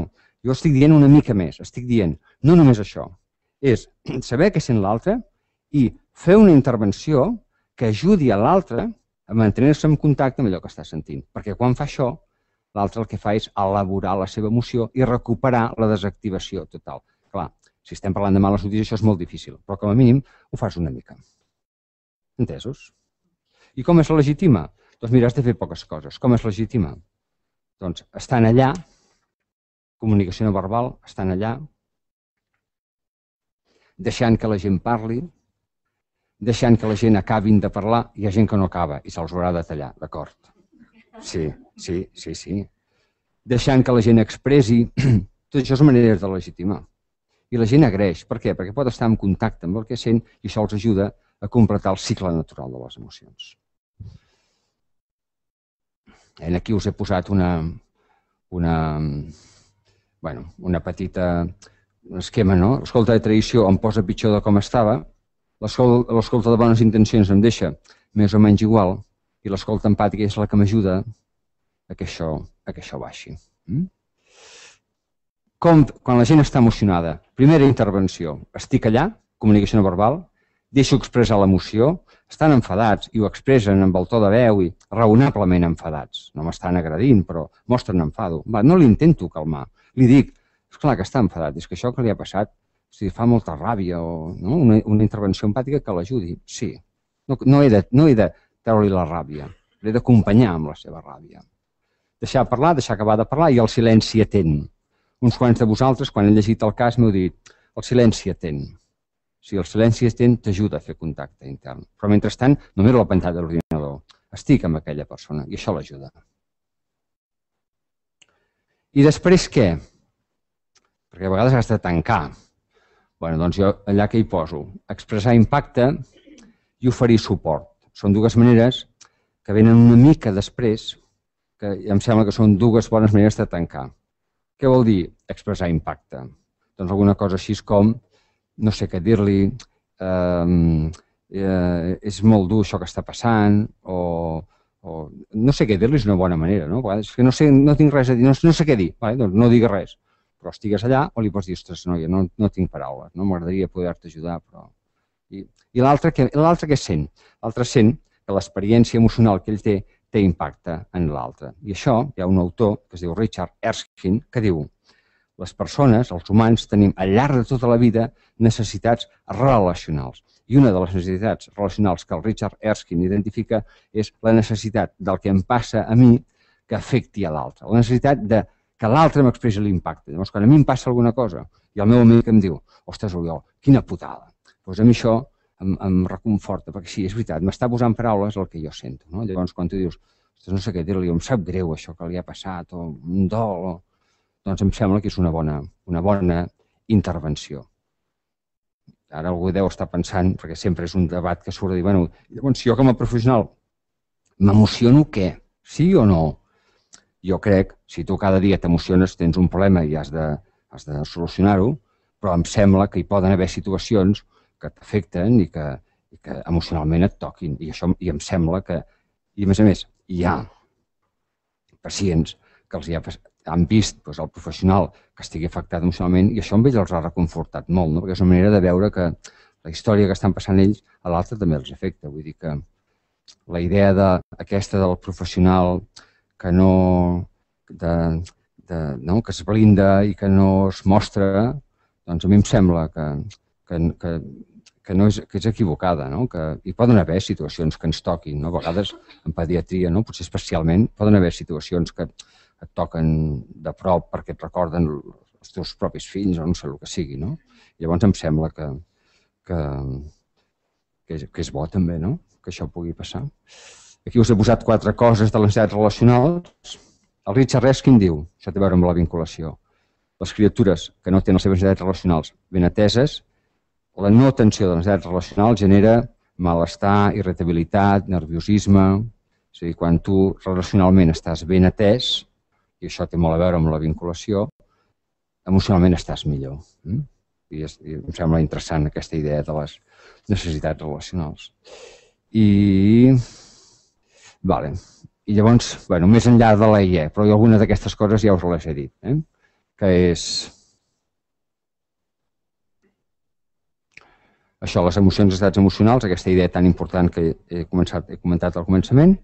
jo estic dient una mica més. Estic dient, no només això. És saber què sent l'altre i fer una intervenció que ajudi a l'altre a mantenir-se en contacte amb allò que està sentint. Perquè quan fa això, l'altre el que fa és elaborar la seva emoció i recuperar la desactivació total. Clar, si estem parlant de males notícies, això és molt difícil, però com a mínim ho fas una mica. Entesos? I com es legitima? Doncs mira, has de fer poques coses. Com es legitima? Doncs estan allà, comunicació no verbal, estan allà, deixant que la gent parli, deixant que la gent acabin de parlar, hi ha gent que no acaba i se'ls haurà de tallar, d'acord? Sí, sí, sí, sí. Deixant que la gent expressi, tot això és maneres de legitimar. I la gent agraeix. Per què? Perquè pot estar en contacte amb el que sent i això els ajuda a completar el cicle natural de les emocions. Aquí us he posat una, una, bueno, una petita esquema, no? L'escolta de tradició em posa pitjor de com estava, l'escolta de bones intencions em deixa més o menys igual i l'escolta empàtica és la que m'ajuda a que això, a que això baixi. Com, quan la gent està emocionada, primera intervenció, estic allà, comunicació no verbal, deixo expressar l'emoció, estan enfadats i ho expressen amb el to de veu i raonablement enfadats. No m'estan agredint, però mostren enfado. Va, no l'intento calmar. Li dic, esclar que està enfadat, és que això que li ha passat si fa molta ràbia o no? una, una intervenció empàtica que l'ajudi. Sí, no, no he de, no he de treure-li la ràbia, l'he d'acompanyar amb la seva ràbia. Deixar parlar, deixar acabar de parlar i el silenci atent. Uns quants de vosaltres, quan he llegit el cas, m'heu dit el silenci atent. Si el silenci atent t'ajuda a fer contacte intern. Però mentrestant, no miro la pantalla de l'ordinador. Estic amb aquella persona i això l'ajuda. I després què? Perquè a vegades has de tancar. Bé, doncs jo allà que hi poso, expressar impacte i oferir suport. Són dues maneres que venen una mica després, que em sembla que són dues bones maneres de tancar. Què vol dir expressar impacte? Doncs alguna cosa així com, no sé què dir-li, eh, eh, és molt dur això que està passant, o, o no sé què dir-li és una bona manera, no? A vegades és que no sé, no tinc res a dir, no, no sé què dir, vale? Doncs no digues res, però estigues allà o li pots dir, ostres, noia, no, no tinc paraules, no m'agradaria poder-te ajudar, però... I, i l'altre què, l'altre què sent? L'altre sent que l'experiència emocional que ell té té impacte en l'altre. I això, hi ha un autor que es diu Richard Erskine que diu les persones, els humans, tenim al llarg de tota la vida necessitats relacionals. I una de les necessitats relacionals que el Richard Erskine identifica és la necessitat del que em passa a mi que afecti a l'altre. La necessitat de que l'altre m'expressi l'impacte. Llavors, quan a mi em passa alguna cosa i el meu amic em diu, ostres, Oriol, quina putada. Doncs a mi això em, em reconforta, perquè sí, és veritat, m'està posant paraules el que jo sento. No? Llavors, quan tu dius, ostres, no sé què dir-li, em sap greu això que li ha passat, o un dol, o... doncs em sembla que és una bona, una bona intervenció. Ara algú deu estar pensant, perquè sempre és un debat que surt de dir, bueno, llavors, si jo com a professional m'emociono què? Sí o no? Jo crec, si tu cada dia t'emociones, tens un problema i has de, has de solucionar-ho, però em sembla que hi poden haver situacions que t'afecten i que, i que emocionalment et toquin. I això i em sembla que, i a més a més, hi ha pacients que els hi ha, han vist doncs, el professional que estigui afectat emocionalment i això amb ells els ha reconfortat molt, no? Perquè és una manera de veure que la història que estan passant ells a l'altre també els afecta. Vull dir que la idea de, aquesta del professional que no, de, de, no, que es blinda i que no es mostra, doncs a mi em sembla que, que, que, que, no és, que és equivocada, no? Que hi poden haver situacions que ens toquin, no? A vegades en pediatria, no? Potser especialment, poden haver situacions que et toquen de prop perquè et recorden els teus propis fills o no sé el que sigui, no? Llavors em sembla que, que, que, és, que és bo també, no? Que això pugui passar. Aquí us he posat quatre coses de les necessitats relacionals. El Richard Erskine diu, això té a veure amb la vinculació, les criatures que no tenen les seves necessitats relacionals ben ateses, la no atenció de les necessitats relacionals genera malestar, irritabilitat, nerviosisme. És a dir, quan tu relacionalment estàs ben atès, i això té molt a veure amb la vinculació, emocionalment estàs millor. I, és, i em sembla interessant aquesta idea de les necessitats relacionals. I, vale. I llavors, bueno, més enllà de la I E, però alguna d'aquestes coses ja us les he dit, eh? Que és això, les emocions, estats emocionals, aquesta idea tan important que he, començat, he comentat al començament,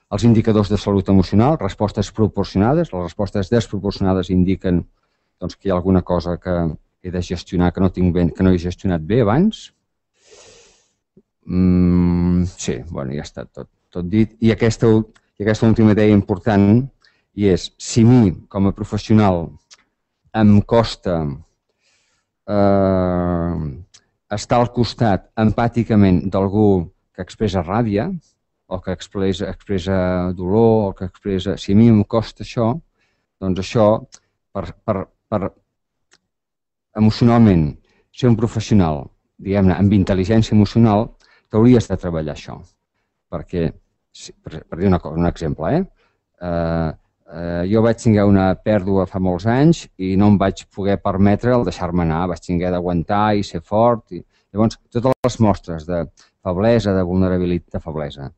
els indicadors de salut emocional, respostes proporcionades, les respostes desproporcionades indiquen doncs, que hi ha alguna cosa que he de gestionar que no, tinc ben, que no he gestionat bé abans. Mm, sí, bueno, ja està tot, tot dit. I aquesta, i aquesta última idea important i és, si mi, com a professional, em costa eh, estar al costat empàticament d'algú que expressa ràbia o que expressa, expressa dolor o que expressa... Si a mi em costa això, doncs això, per, per, per emocionalment ser un professional, diguem-ne, amb intel·ligència emocional, t'hauries de treballar això. Perquè, per, per dir una cosa, un exemple, eh? eh Uh, jo vaig tenir una pèrdua fa molts anys i no em vaig poder permetre el deixar-me anar, vaig tenir d'aguantar i ser fort. I... Llavors, totes les mostres de feblesa, de vulnerabilitat, de feblesa,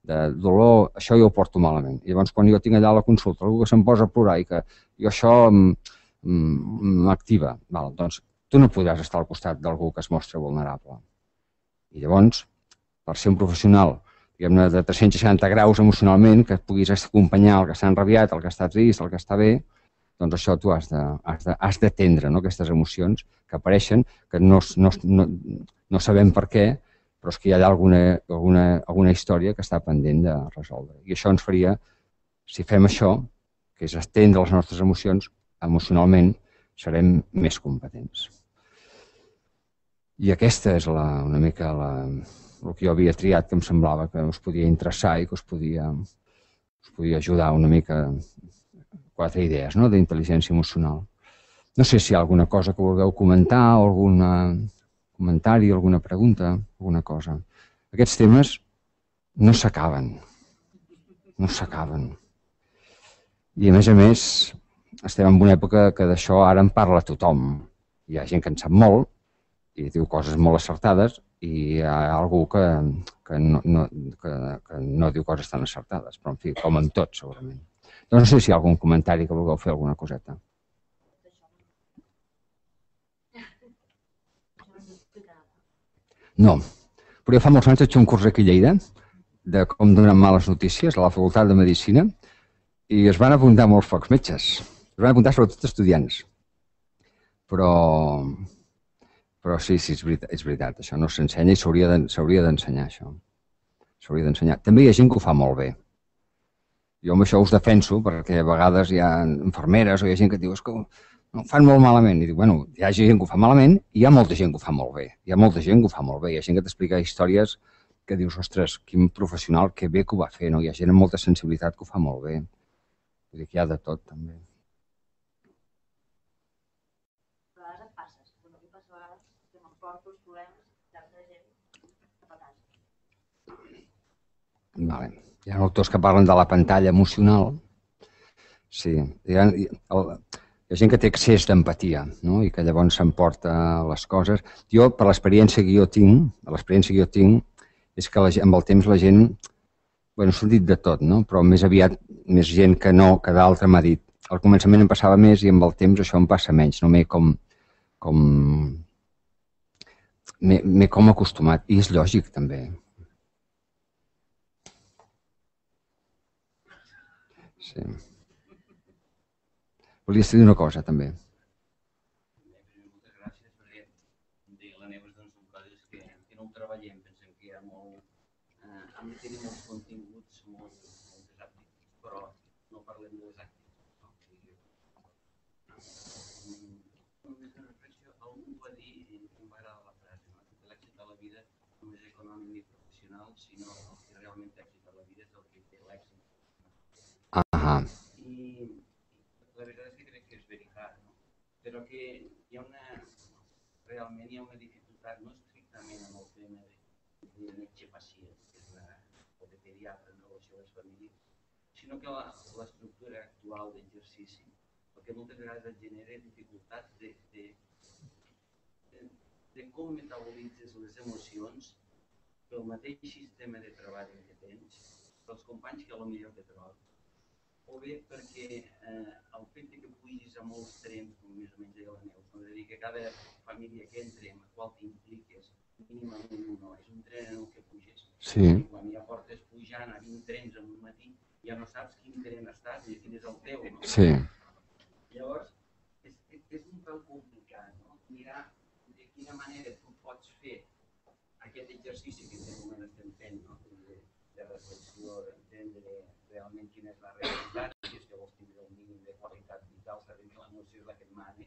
de dolor, això jo ho porto malament. I llavors, quan jo tinc allà la consulta, algú que se'm posa a plorar i que jo això m'activa, doncs tu no podràs estar al costat d'algú que es mostra vulnerable. I llavors, per ser un professional diguem-ne, de tres-cents seixanta graus emocionalment, que puguis acompanyar el que està enrabiat, el que està trist, el que està bé, doncs això tu has d'atendre, no? Aquestes emocions que apareixen, que no, no, no, no sabem per què, però és que hi ha alguna, alguna, alguna història que està pendent de resoldre. I això ens faria, si fem això, que és atendre les nostres emocions, emocionalment serem més competents. I aquesta és la, una mica la... el que jo havia triat, que em semblava que us podia interessar i que us podia, us podia ajudar una mica, quatre idees, no?, d'intel·ligència emocional. No sé si hi ha alguna cosa que vulgueu comentar o algun comentari, alguna pregunta, alguna cosa. Aquests temes no s'acaben, no s'acaben. I a més a més, estem en una època que d'això ara en parla tothom. Hi ha gent que en sap molt, i diu coses molt acertades i hi ha algú que, que, no, no, que, que no diu coses tan acertades, però en fi, com en tot, segurament. Doncs no sé si hi ha algun comentari que vulgueu fer alguna coseta. No, però jo fa molts anys vaig fer un curs aquí a Lleida de com donar males notícies a la Facultat de Medicina i es van apuntar molts pocs metges. Es van apuntar sobretot estudiants. Però, però sí, sí, és veritat, és veritat. Això no s'ensenya i s'hauria d'ensenyar, això. S'hauria d'ensenyar. També hi ha gent que ho fa molt bé. Jo amb això us defenso, perquè a vegades hi ha infermeres o hi ha gent que diu que ho fan molt malament. I dic, bueno, hi ha gent que ho fa malament i hi ha molta gent que ho fa molt bé. Hi ha molta gent que ho fa molt bé. Hi ha gent que t'explica històries que dius, ostres, quin professional, que bé que ho va fer, no? Hi ha gent amb molta sensibilitat que ho fa molt bé. Vull dir que hi ha de tot, també. A vegades et passes. Bueno, a mi passa a vegades que m'emporto els problemes d'altra gent cap a casa. Vale. Hi ha autors que parlen de la pantalla emocional. Sí. Hi ha, hi ha gent que té excés d'empatia, no? I que llavors s'emporta les coses. Jo, per l'experiència que jo tinc, l'experiència que jo tinc, és que la, amb el temps la gent, bueno, s'ho dit de tot, no? Però més aviat, més gent que no, que d'altra m'ha dit. Al començament em passava més i amb el temps això em passa menys. No m'he com... com m'he com acostumat. I és lògic, també. Sí. Volies dir una cosa, també. Moltes gràcies, perquè deia la Neus, doncs, són coses que, que no ho treballem. Pensem que hi ha molt... Eh, hem de tenir molts continguts, molt, moltes activitats, però no parlem de les activitats. No? Només una reflexió, algú va dir, i em va agradar la frase, no? Que l'èxit de la vida no és econòmic ni professional, sinó el que realment té èxit de la vida és el que té l'èxit. Ah. I la veritat és que crec que és veritat, no? Però que hi ha una, realment hi ha una dificultat, no estrictament en el tema de, de metge-pacient, que és la, o de pediatre en relació a les famílies, sinó que l'estructura actual d'exercici, el que moltes vegades et genera dificultats de, de, de, de com metabolitzes les emocions pel mateix sistema de treball que tens, pels companys que potser te trobes, o bé perquè eh, el fet que pugis a molts trens, com més o menys deia la Neus, no? És a dir, que cada família que entre amb la qual t'impliques, mínimament un, és un tren en el que puges. Sí. I quan ja portes pujant a vint trens en un matí, ja no saps quin tren estàs i quin és el teu, no? Sí. Llavors, és, és un pèl complicat, no? Mirar de quina manera tu pots fer aquest exercici que en aquest moment estem fent, no? De, de reflexió, d'entendre realment quina és la realitat, si és que vols tindre un mínim de qualitat vital, sabent que l'emoció és la que et mana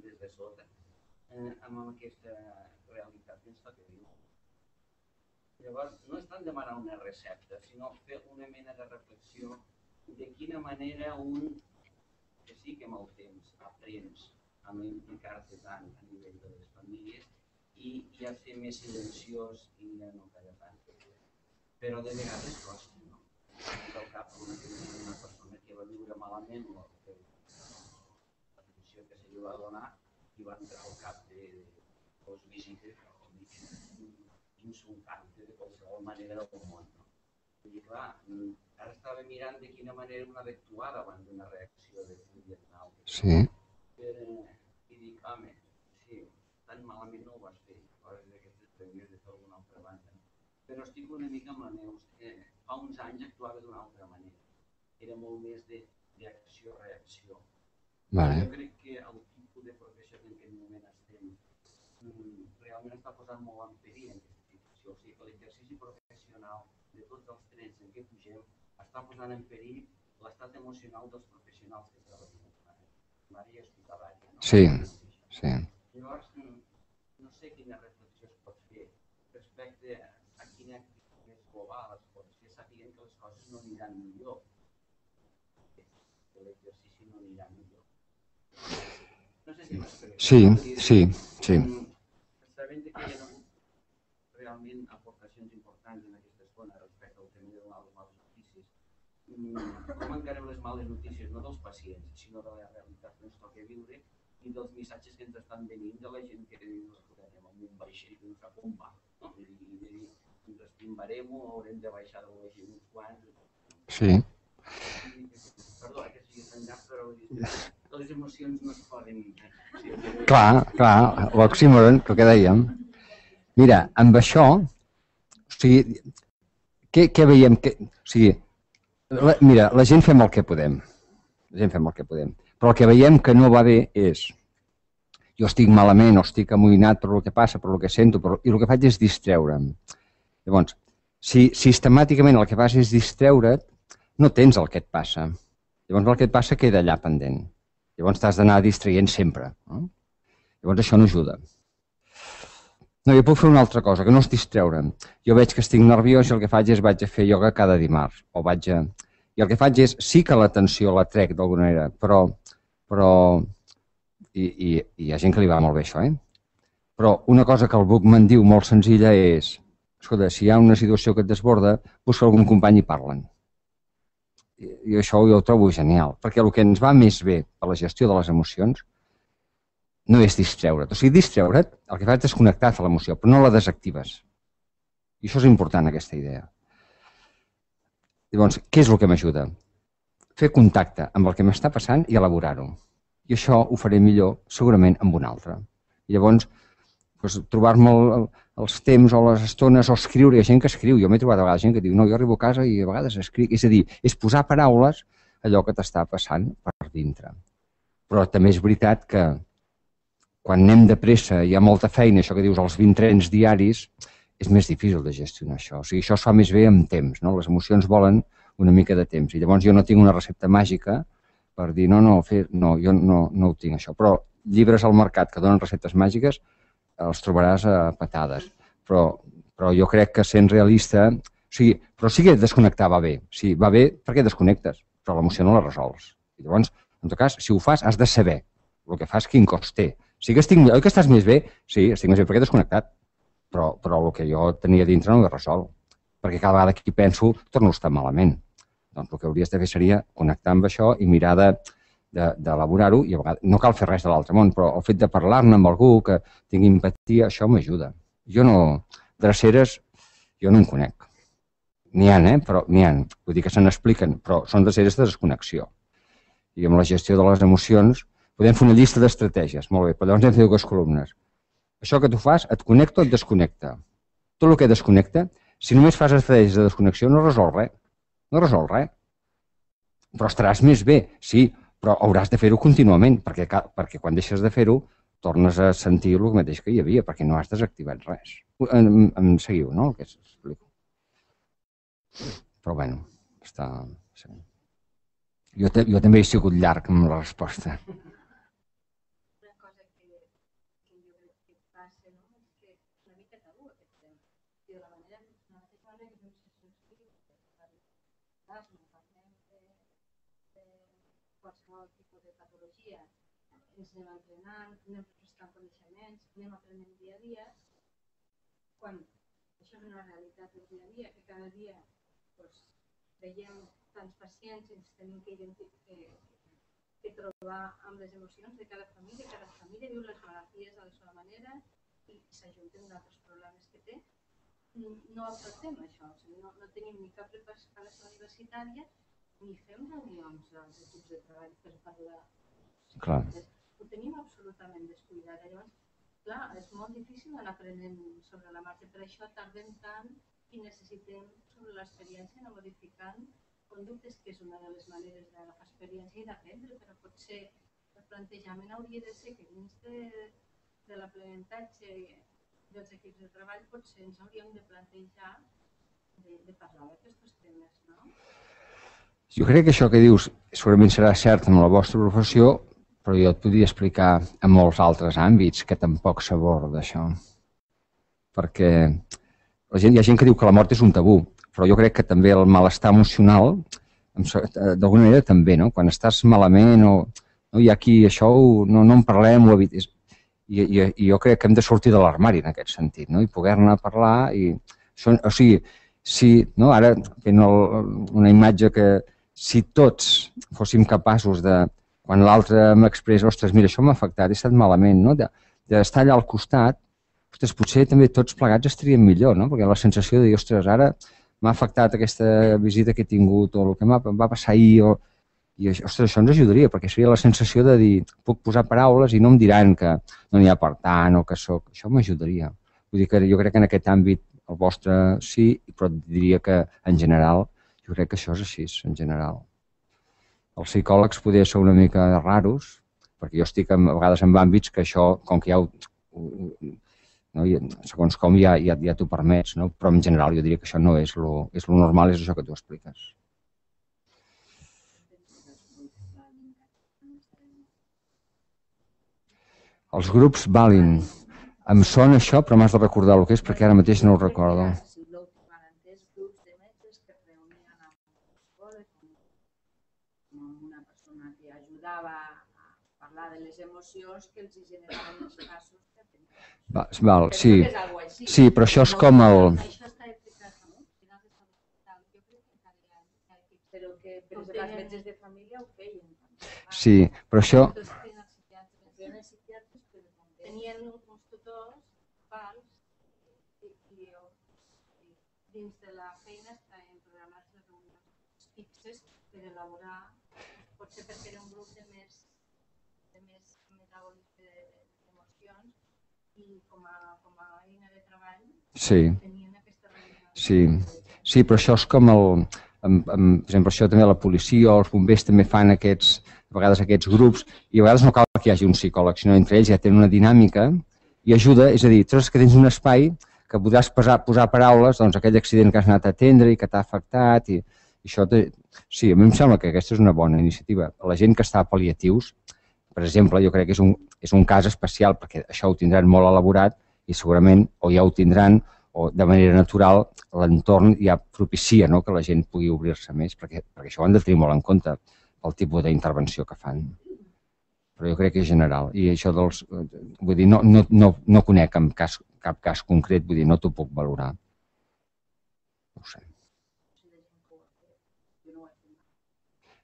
des de sota, eh, amb aquesta realitat que ens toca viure. Llavors, no és tant demanar una recepta, sinó fer una mena de reflexió de quina manera un, que sí que amb el temps aprens a no implicar-te tant a nivell de les famílies i, i a ser més silenciós i a no callar tant. Però de vegades costa, no? Al cap una, una persona que va viure malament o que la posició que se li va donar i va entrar al cap de dos visites o insultant-te de qualsevol manera del món. No? I clar, ara estava mirant de quina manera una ha d'actuar davant d'una reacció de Vietnam. Sí. I dic, home, sí, tan malament no ho vas fer, coses d'aquestes t'hauries de fer alguna altra banda. Però estic una mica amb la Neus, que fa uns anys actuava d'una altra manera. Era molt més d'acció-reacció. Vale. Jo crec que el tipus de professió en aquest moment estem realment està posant molt en perill en aquesta situació. O sigui que l'exercici professional de tots els trens en què pugem està posant en perill l'estat emocional dels professionals que treballen en primària i hospitalària. No? Sí, sí. Llavors, no sé quina reflexió es pot fer respecte a quina activitat més global es pot fer, sapiguem que les coses no aniran millor, que l'exercici no anirà millor. No sé si m'explico. Sí, sí, sí. Sabent que hi ha hagut realment aportacions importants en aquesta zona respecte al tema de donar les males notícies, com encarem les males notícies no dels pacients, sinó de la realitat que ens toca viure i dels missatges que ens estan venint de la gent que viu la pandèmia. com un vaixell que no sap on va. Ens estimbarem-ho, haurem de baixar del vaixell uns quants. Sí. Perdó, que sigui enllà, però les emocions no es poden... Clar, clar, l'oxímoron, el que dèiem. Mira, amb això, o sigui, què, què veiem? Que, o sigui, la, mira, la gent fem el que podem. La gent fem el que podem. Però el que veiem que no va bé és jo estic malament o estic amoïnat per el que passa, per el que sento, però, i el que faig és distreure'm. Llavors, si sistemàticament el que fas és distreure't, no tens el que et passa. Llavors el que et passa queda allà pendent. Llavors t'has d'anar distraient sempre. No? Llavors això no ajuda. No, jo puc fer una altra cosa, que no és distreure'm. Jo veig que estic nerviós i el que faig és vaig a fer ioga cada dimarts. O vaig a... I el que faig és, sí que l'atenció la trec d'alguna manera, però... però i, i, i hi ha gent que li va molt bé això, eh? Però una cosa que el Buchmann diu molt senzilla és, escolta, si hi ha una situació que et desborda, busca algun company i parlen. I, i això jo ho trobo genial, perquè el que ens va més bé per la gestió de les emocions no és distreure't. O sigui, distreure't, el que fa és desconnectar-te de l'emoció, però no la desactives. I això és important, aquesta idea. Llavors, què és el que m'ajuda? Fer contacte amb el que m'està passant i elaborar-ho. I això ho faré millor, segurament, amb un altre. I llavors, doncs, trobar-me el, els temps o les estones o escriure. Hi ha gent que escriu. Jo m'he trobat a vegades gent que diu, no, jo arribo a casa i a vegades escric. És a dir, és posar paraules a allò que t'està passant per dintre. Però també és veritat que quan anem de pressa i hi ha molta feina, això que dius, els vint trens diaris, és més difícil de gestionar això. O sigui, això es fa més bé amb temps, no? Les emocions volen una mica de temps. I llavors jo no tinc una recepta màgica per dir, no, no, fer, no jo no, no ho tinc, això. Però llibres al mercat que donen receptes màgiques els trobaràs a patades. Però, però jo crec que sent realista... O sigui, però sí que desconnectar va bé. Sí, va bé perquè desconnectes, però l'emoció no la resols. I llavors, en tot cas, si ho fas, has de saber el que fas, quin cost té. Sí que estic, oi que estàs més bé? Sí, estic més bé perquè he desconnectat. Però, però el que jo tenia dintre no ho he resolt. Perquè cada vegada que hi penso, torno a estar malament. Doncs el que hauries de fer seria connectar amb això i mirar d'elaborar-ho, i a vegades no cal fer res de l'altre món, però el fet de parlar-ne amb algú que tingui empatia, això m'ajuda. Jo no, dreceres, jo no en conec. N'hi ha, eh? Però n'hi ha. Vull dir que se n'expliquen, però són dreceres de desconnexió. I amb la gestió de les emocions podem fer una llista d'estratègies, molt bé, però llavors hem de fer dues columnes. Això que tu fas, et connecta o et desconnecta? Tot el que desconnecta, si només fas estratègies de desconnexió, no resol res. No resol res. Però estaràs més bé, sí, però hauràs de fer-ho contínuament, perquè, perquè quan deixes de fer-ho tornes a sentir el mateix que hi havia, perquè no has desactivat res. Em, em seguiu, no?, el que s'explico. Però, bueno, està... Sí. Jo, jo també he sigut llarg amb la resposta. Una cosa que, que jo crec que passa, no?, és que és una mica tabú aquest tema. I de la manera, la mateixa manera que fem sessions clíniques, no parlem de, de qualsevol tipus de patologia, ens anem entrenant, anem refrescant coneixements, anem aprenent dia a dia. Quan això és una realitat del dia a dia, que cada dia doncs, veiem tants pacients i ens tenim que, que, que trobar amb les emocions de cada família, cada família viu les malalties de la seva manera i s'ajunten d'altres problemes que té. No afrontem això, o sigui, no, no tenim ni cap preparació universitària ni fem reunions als equips de treball per parlar. Clar. Ho tenim absolutament descuidat. Llavors, clar, és molt difícil anar aprenent sobre la marxa. Per això tardem tant i necessitem sobre l'experiència anar modificant conductes, que és una de les maneres d'agafar experiència i d'aprendre, però potser el plantejament hauria de ser que dins de, de l'aprenentatge dels equips de treball potser ens hauríem de plantejar de, de parlar d'aquests temes, no? Jo crec que això que dius segurament serà cert en la vostra professió, però jo et podria explicar en molts altres àmbits que tampoc s'aborda això. Perquè la gent, hi ha gent que diu que la mort és un tabú, però jo crec que també el malestar emocional, d'alguna manera també, no? Quan estàs malament o no, hi ha aquí això, no, no en parlem, ho evites. I, i, I jo crec que hem de sortir de l'armari en aquest sentit, no? I poder-ne parlar. I, això, o sigui, si, no? Ara fent el, una imatge que si tots fóssim capaços de, quan l'altre m'expressa, ostres, mira, això m'ha afectat, he estat malament, no? D'estar allà al costat, ostres, potser també tots plegats estaríem millor, no? Perquè la sensació de dir, ostres, ara m'ha afectat aquesta visita que he tingut o el que em va passar ahir, o... i ostres, això ens ajudaria, perquè seria la sensació de dir, puc posar paraules i no em diran que no n'hi ha per tant o que soc... Això m'ajudaria. Vull dir que jo crec que en aquest àmbit el vostre sí, però diria que en general, jo crec que això és així, en general. Els psicòlegs poder ser una mica raros, perquè jo estic a vegades en àmbits que això, com que ja ho... No? I, segons com ja, ja, ja t'ho permets, no? Però en general jo diria que això no és lo, és lo normal, és això que tu expliques. Els grups valin. Em sona això, però m'has de recordar el que és, perquè ara mateix no ho recordo. Grups de metges que es reunien amb psicòlegs, amb una persona que ajudava a parlar de les emocions que els generaven els casos que tenien. Val, val, sí. Sí, però això és com el... Això està explicat, no? Jo crec que cada any, però que per exemple els metges de família ho feien. Sí, però això... Tenien uns tutors, pals, i dins de la feina estaven programats les reunions fixes per elaborar, potser perquè era un grup de més metabòlics d'emocions i com a eina de treball tenien aquesta reunió. Sí, sí, però això és com el... Per exemple, això també la policia o els bombers també fan aquests, a vegades aquests grups, i a vegades no cal que hi hagi un psicòleg, sinó entre ells ja tenen una dinàmica i ajuda, és a dir, tu saps que tens un espai que podràs posar, posar paraules, doncs aquell accident que has anat a atendre i que t'ha afectat, i, i això, te... sí, a mi em sembla que aquesta és una bona iniciativa. La gent que està a pal·liatius, per exemple, jo crec que és un, és un cas especial, perquè això ho tindran molt elaborat i segurament, o ja ho tindran, o de manera natural, l'entorn ja propicia, no?, que la gent pugui obrir-se més, perquè, perquè això ho han de tenir molt en compte, el tipus d'intervenció que fan. Però jo crec que és general. I això dels... Vull dir, no, no, no, no conec cap cas, cap cas concret, vull dir, no t'ho puc valorar. No ho sé.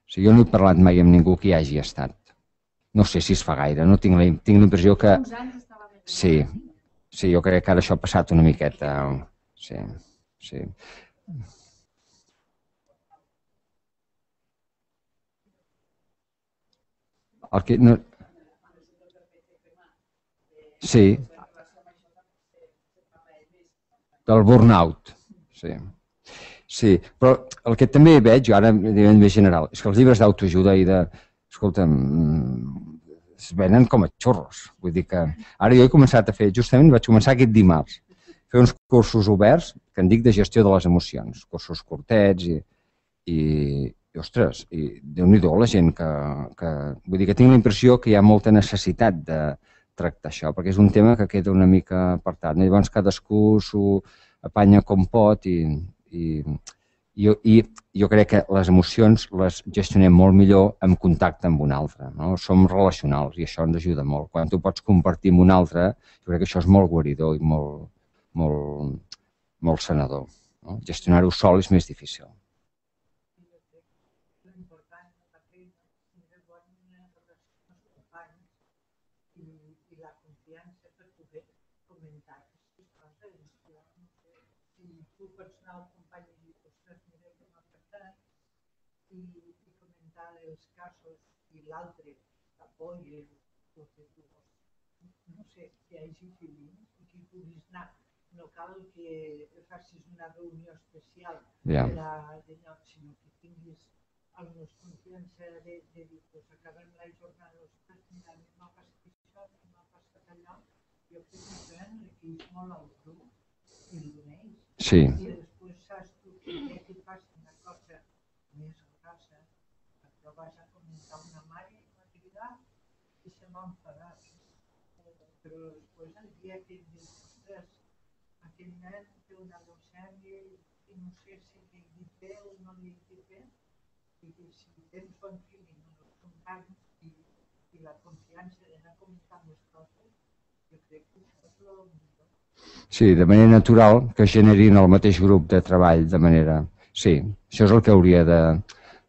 Sí, jo no he parlat mai amb ningú que hi hagi estat. No sé si es fa gaire, no tinc la, tinc la impressió que... Sí, sí, jo crec que ara això ha passat una miqueta. Sí, sí. El que no... Sí. Del burnout. Sí. Sí, però el que també veig, jo ara a nivell més general, és que els llibres d'autoajuda i de... Escolta'm, es venen com a xurros. Vull dir que ara jo he començat a fer, justament vaig començar aquest dimarts, fer uns cursos oberts que en dic de gestió de les emocions, cursos curtets i, i, i ostres, i déu-n'hi-do la gent que, que... Vull dir que tinc la impressió que hi ha molta necessitat de tractar això, perquè és un tema que queda una mica apartat. Llavors cadascú s'ho apanya com pot i, i, i, i jo crec que les emocions les gestionem molt millor en contacte amb un altre. No? Som relacionals i això ens ajuda molt. Quan tu pots compartir amb un altre, jo crec que això és molt guaridor i molt, molt, molt sanador. No? Gestionar-ho sol és més difícil. I la confiança per poder comentar aquestes coses. Si tu pots anar al company i dir, ostres, mira que m'ha afectat, i comentar els casos i l'altre t'apoya, o que tu, no sé, que hi hagi feeling i que puguis anar. No cal que facis una reunió especial per a allò, sinó que tinguis almenys confiança de dir, doncs acabem la jornada, ostres, mira, m'ha passat això, m'ha passat allò. Jo crec que això enriqueix molt el grup i l'uneix. Sí. I després saps tu que ja que passa una cosa més grossa, però vas a comentar una mare i va cridar i se va enfadar. Però després el dia que em dius, ostres, aquell nen té una leucèmia i no sé si li he dit bé o no li he dit bé, i si tens bon feeling amb els companys i la confiança d'anar comentant les coses, jo crec que això és el millor. Sí, de manera natural que generin el mateix grup de treball de manera... Sí, això és el que hauria de,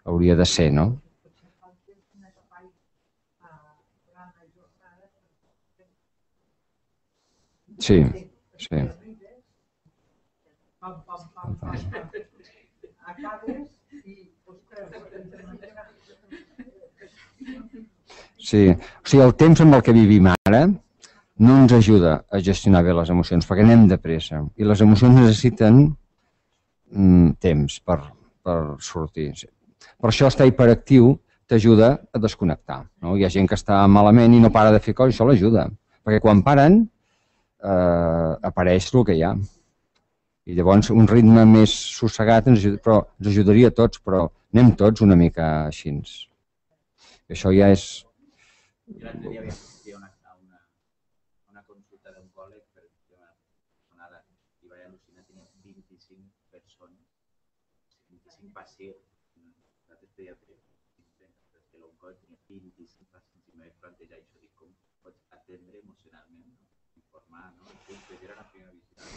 hauria de ser, no? Potser falta un espai durant la jornada. Sí. Sí. Pam, pam, pam, pam, pam. Acabes i, ostres, entre mitja... Sí. O sigui, el temps amb el que vivim ara no ens ajuda a gestionar bé les emocions, perquè anem de pressa. I les emocions necessiten mm, temps per, per sortir. Per això estar hiperactiu t'ajuda a desconnectar. No? Hi ha gent que està malament i no para de fer coses, això l'ajuda. Perquè quan paren, eh, apareix el que hi ha. I llavors un ritme més sossegat ens, ajuda, però, ens ajudaria a tots, però anem tots una mica així. I això ja és... Jo l'altre dia vaig assistir a una, a una, a una consulta d'oncòleg per una personada i vaig al·lucinar, tenia vint-i-cinc persones, vint-i-cinc pacients. Nosaltres pediatres, que l'oncòleg tenia vint-i-cinc pacients i em vaig plantejar això, dic, com pots atendre emocionalment, no? Informar, no? Entonces, era la primera visita,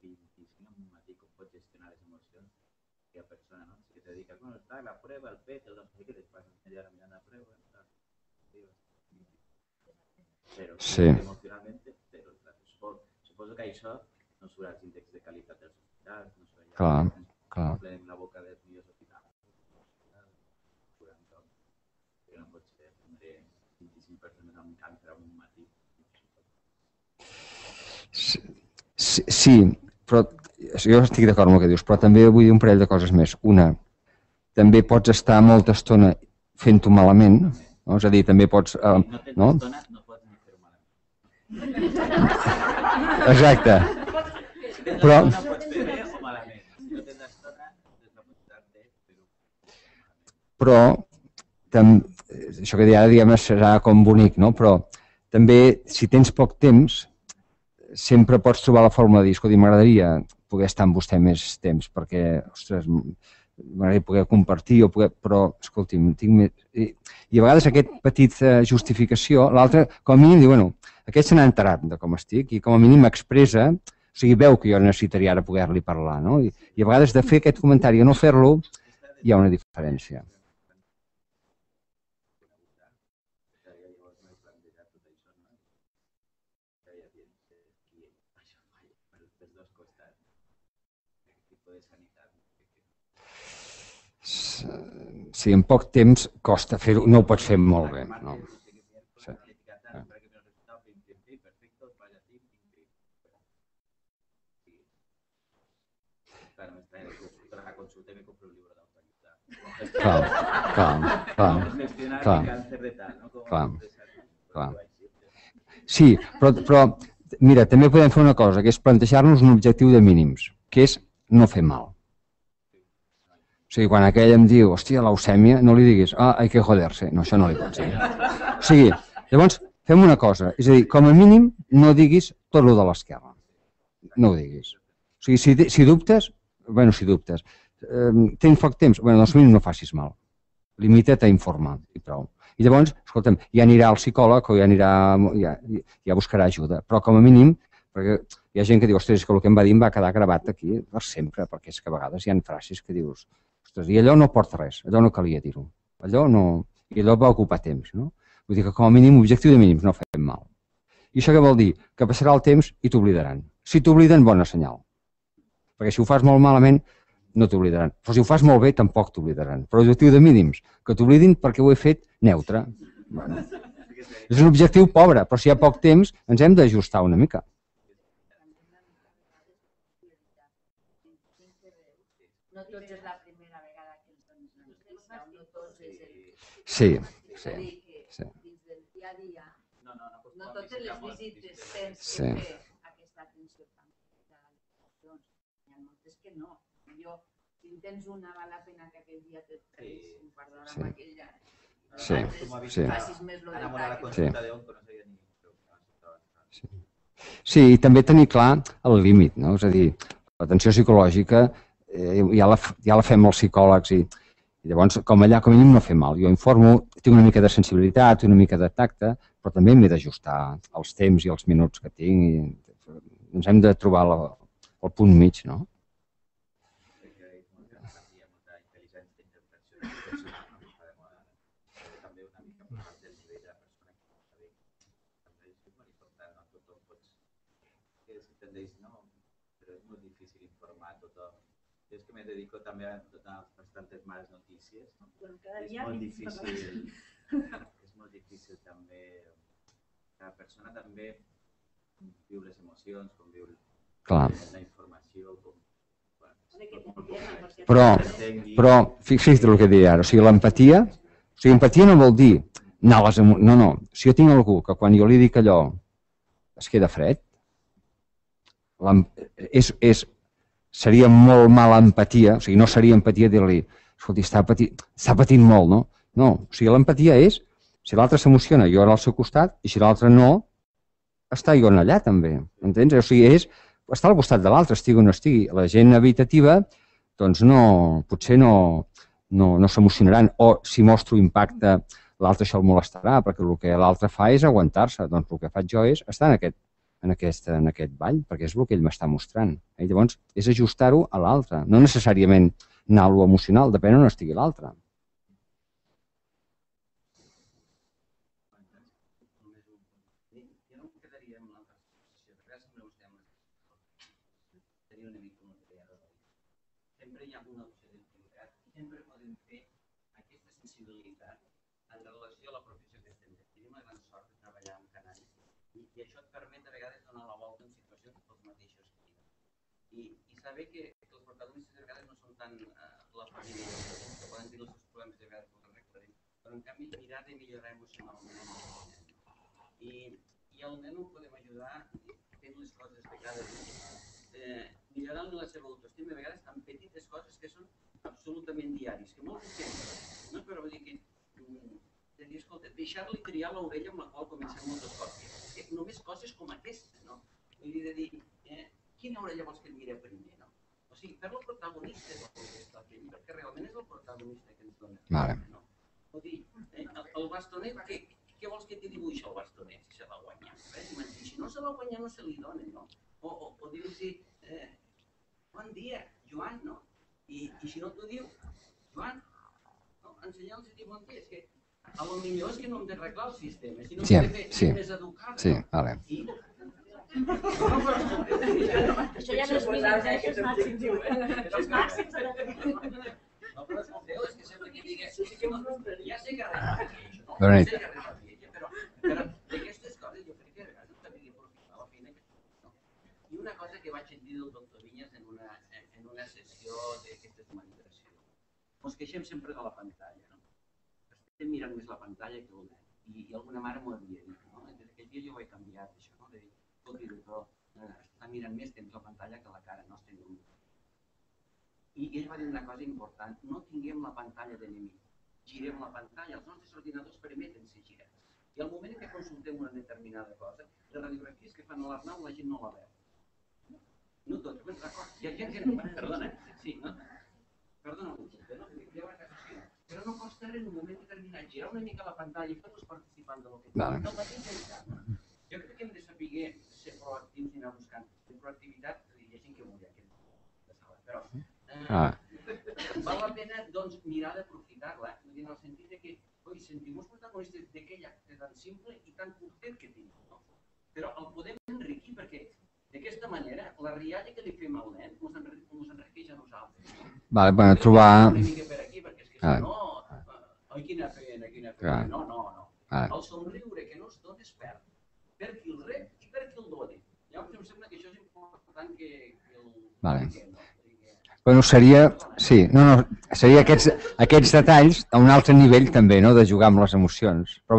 vint-i-cinc en un matí, com pots gestionar les emocions? Que la persona, ¿no? Que te dedica, bueno, está la prueba, el P E T, el no sé qué, después media hora mirando la prueba, tal. Pero sí. Emocionalmente, pero suposo, suposo que això no surt als índexs de qualitat dels hospitals, no surt Clar, clar. Omplem la boca dels millors hospitals. Però no pot ser tindre vint-i-cinc persones amb càncer en un matí. Sí, sí, sí, però jo estic d'acord amb el que dius, però també vull dir un parell de coses més. Una, també pots estar molta estona fent-ho malament, no? És a dir, també pots... Eh, no tens no? estona, no pots ni fer-ho malament. Exacte. Si tens Però... estona, pots fer bé o malament. Si no tens estona, tens la possibilitat de fer-ho malament. Però, tam... això que ara diguem serà com bonic, no? Però també, si tens poc temps, sempre pots trobar la forma de dir, escolta, m'agradaria poder estar amb vostè més temps, perquè, ostres, m'agradaria poder compartir, o poder... però, escolti'm, tinc més... I, I a vegades aquest petit justificació, l'altre, com a mínim, diu, bueno, aquest se n'ha enterat de com estic i com a mínim m'expressa, o sigui, veu que jo necessitaria ara poder-li parlar, no? I, I a vegades de fer aquest comentari i no fer-lo, hi ha una diferència. Sí, en poc temps costa fer-ho, no ho pots fer molt bé. No. Sí. Clar, clar, clar, clar, clar, clar. Sí, però, però mira, també podem fer una cosa, que és plantejar-nos un objectiu de mínims, que és no fer mal. O sigui, quan aquell em diu, hòstia, leucèmia, no li diguis, ah, hay que joder-se. No, això no li pots dir. O sigui, llavors, fem una cosa, és a dir, com a mínim, no diguis tot lo de l'esquerra. No ho diguis. O sigui, si, si dubtes, bueno, si dubtes, eh, tens poc temps, bueno, doncs mínim no facis mal. Limita't a informar i prou. I llavors, escolta'm, ja anirà al psicòleg o ja anirà, ja, ja buscarà ajuda. Però com a mínim, perquè hi ha gent que diu, ostres, que el que em va dir em va quedar gravat aquí per sempre, perquè és que a vegades hi ha frases que dius, ostres, i allò no porta res, allò no calia dir-ho. Allò no... I allò va ocupar temps, no? Vull dir que com a mínim, objectiu de mínims, no fem mal. I això què vol dir? Que passarà el temps i t'oblidaran. Si t'obliden, bona senyal. Perquè si ho fas molt malament, no t'oblidaran. Però si ho fas molt bé, tampoc t'oblidaran. Però l'objectiu de mínims, que t'oblidin perquè ho he fet neutre. Bueno, és un objectiu pobre, però si hi ha poc temps, ens hem d'ajustar una mica. No tots és la primera vegada que ens dones una notícia, no tots és el... Sí, És sí. a dir, que sí. dins del dia a dia, No, no, no, no totes les visites tens Sí. que fer aquesta atenció tan de les emocions. Hi ha moltes que no. Jo, si en tens una, val la pena que aquell dia te treguis un quart d'hora Sí. amb aquella. Sí, Altres, sí. facis més lo Ara a la detall. consulta de onco no sabia ni... Sí. Sí, i també tenir clar el límit, no? És a dir, l'atenció psicològica eh, ja, la, ja la fem els psicòlegs i, i llavors, com allà, com a mínim no fer mal. Jo informo, tinc una mica de sensibilitat, una mica de tacte, però també m'he d'ajustar els temps i els minuts que tinc i ens hem de trobar la, el punt mig, no? tothom pots... Que es tendeix, no? Però és molt difícil informar a tothom. Jo és que me dedico també a donar bastantes males notícies. Bueno, cada És dia molt més difícil, és molt difícil també, cada persona també viu les emocions, com viu Clar. la informació, com... Home, que t'entenen, perquè... Però, però fixa't el que deia ara, o sigui, l'empatia, o sigui, empatia no vol dir anar a les emo... No, no, si jo tinc algú que quan jo li dic allò es queda fred, l'em- és, és, seria molt mala empatia, o sigui, no seria empatia dir-li, escolti, està patint, està patint molt, no? No, o sigui, l'empatia és, si l'altre s'emociona, jo era al seu costat, i si l'altre no, està jo allà també, entens? O sigui, és estar al costat de l'altre, estigui o no estigui. La gent evitativa, doncs no, potser no, no, no s'emocionaran, o si mostro impacte, l'altre això el molestarà, perquè el que l'altre fa és aguantar-se. Doncs el que faig jo és estar en aquest, en aquest, en aquest ball, perquè és el que ell m'està mostrant. I llavors és ajustar-ho a l'altre, no necessàriament anar a lo emocional, depèn on estigui l'altre. Jo no em quedaria amb l'altra sensació, perquè ara sempre vostè seria una mica una idea. Sempre hi ha una opció d'utilitat i sempre podem fer aquesta sensibilitat en relació a la professió que estem fent. Tenim la gran sort de treballar amb canalls i, i això et permet a vegades donar la volta en situacions dels mateixos que I, i saber que, que els protagonistes de vegades no són tant eh, la família i els pacients que poden tenir els seus problemes de vegades que els arreglarem, però en canvi mirar de millorar emocionalment. I, i al nen ho podem ajudar fent les coses de cada dia, eh, millorant la seva autoestima, a vegades amb petites coses que són absolutament diaris, que molt sempre, no? Però vull dir que, mm, de dir, escolta, deixar-li triar l'orella amb la qual comencem moltes coses, que només coses com aquestes, no? Vull dir, de dir, eh, quina orella vols que et mire primer, no? O sigui, fer-lo protagonista del que està fent, perquè realment és el protagonista que ens dona. Vale. No? O dir, eh, el, el bastonet, què, què vols que t'hi dibuixi el bastonet, si se l'ha guanyat? Eh? Si no se l'ha guanyat, no se li dona, no? O, o, o dir-los, eh, bon dia, Joan, no? I, i si no t'ho diu, Joan, no? Ensenyar-los a dir bon dia, és que a lo millor és que no hem d'arreglar el sistema, sinó Sí, que hem de fer sí. més educada, Sí, no? vale. I, Això ja no és mínims, eh? Això és màxims. Això és màxims. no, però escolteu, és que sembla que digui, sí que no, ja sé que res fa ella, no? Bona Ja nit. sé que res fa ella, però, però d'aquestes coses jo crec que a vegades també he d'aprofitar la feina que faig, no? I una cosa que vaig dir del doctor Vinyes en una, en una sessió d'aquestes d'humanizació. Ens queixem sempre de la pantalla, no? Estem mirant més la pantalla que el nen. I, i alguna mare m'ho havia dit, no? Des d'aquell dia jo ho he canviat, això, no? De dir, escolti, doctor, eh, està mirant més temps la pantalla que la cara, no estem lluny. I ell va dir una cosa important, no tinguem la pantalla d'enemic, girem la pantalla, els nostres ordinadors permeten ser girats. I al moment que consultem una determinada cosa, les radiografies que fan a l'Arnau la gent no la veu. No tots, ben d'acord, hi ha gent que no, perdona, sí, no? Perdona, no? Però no costa res en un moment determinat girar una mica la pantalla i fer-los participant de lo que Vale. no mateix ja. Jo crec que hem de saber ser proactius i anar buscant. En proactivitat, hi ha gent que volia aquesta sala, però eh, Ah. val la pena doncs, mirar d'aprofitar-la, en el sentit de que, oi, sentim-nos protagonistes d'aquell acte tan simple i tan curtet que tenim, no? Però el podem enriquir perquè d'aquesta manera la rialla que li fem al nen ens enriqueix a nosaltres. Vale, bueno, trobar... Una mica per aquí, perquè és que Ah. si no, oi, quina pena, quina pena. Clar. No, no, no. Ah. El somriure que no es dona es perd. Per qui el rep i per qui el doni. Llavors em sembla que això és important que, que el... Vale. que no. Bueno, seria... Sí, no, no, seria aquests, aquests detalls a un altre nivell també, no?, de jugar amb les emocions. Però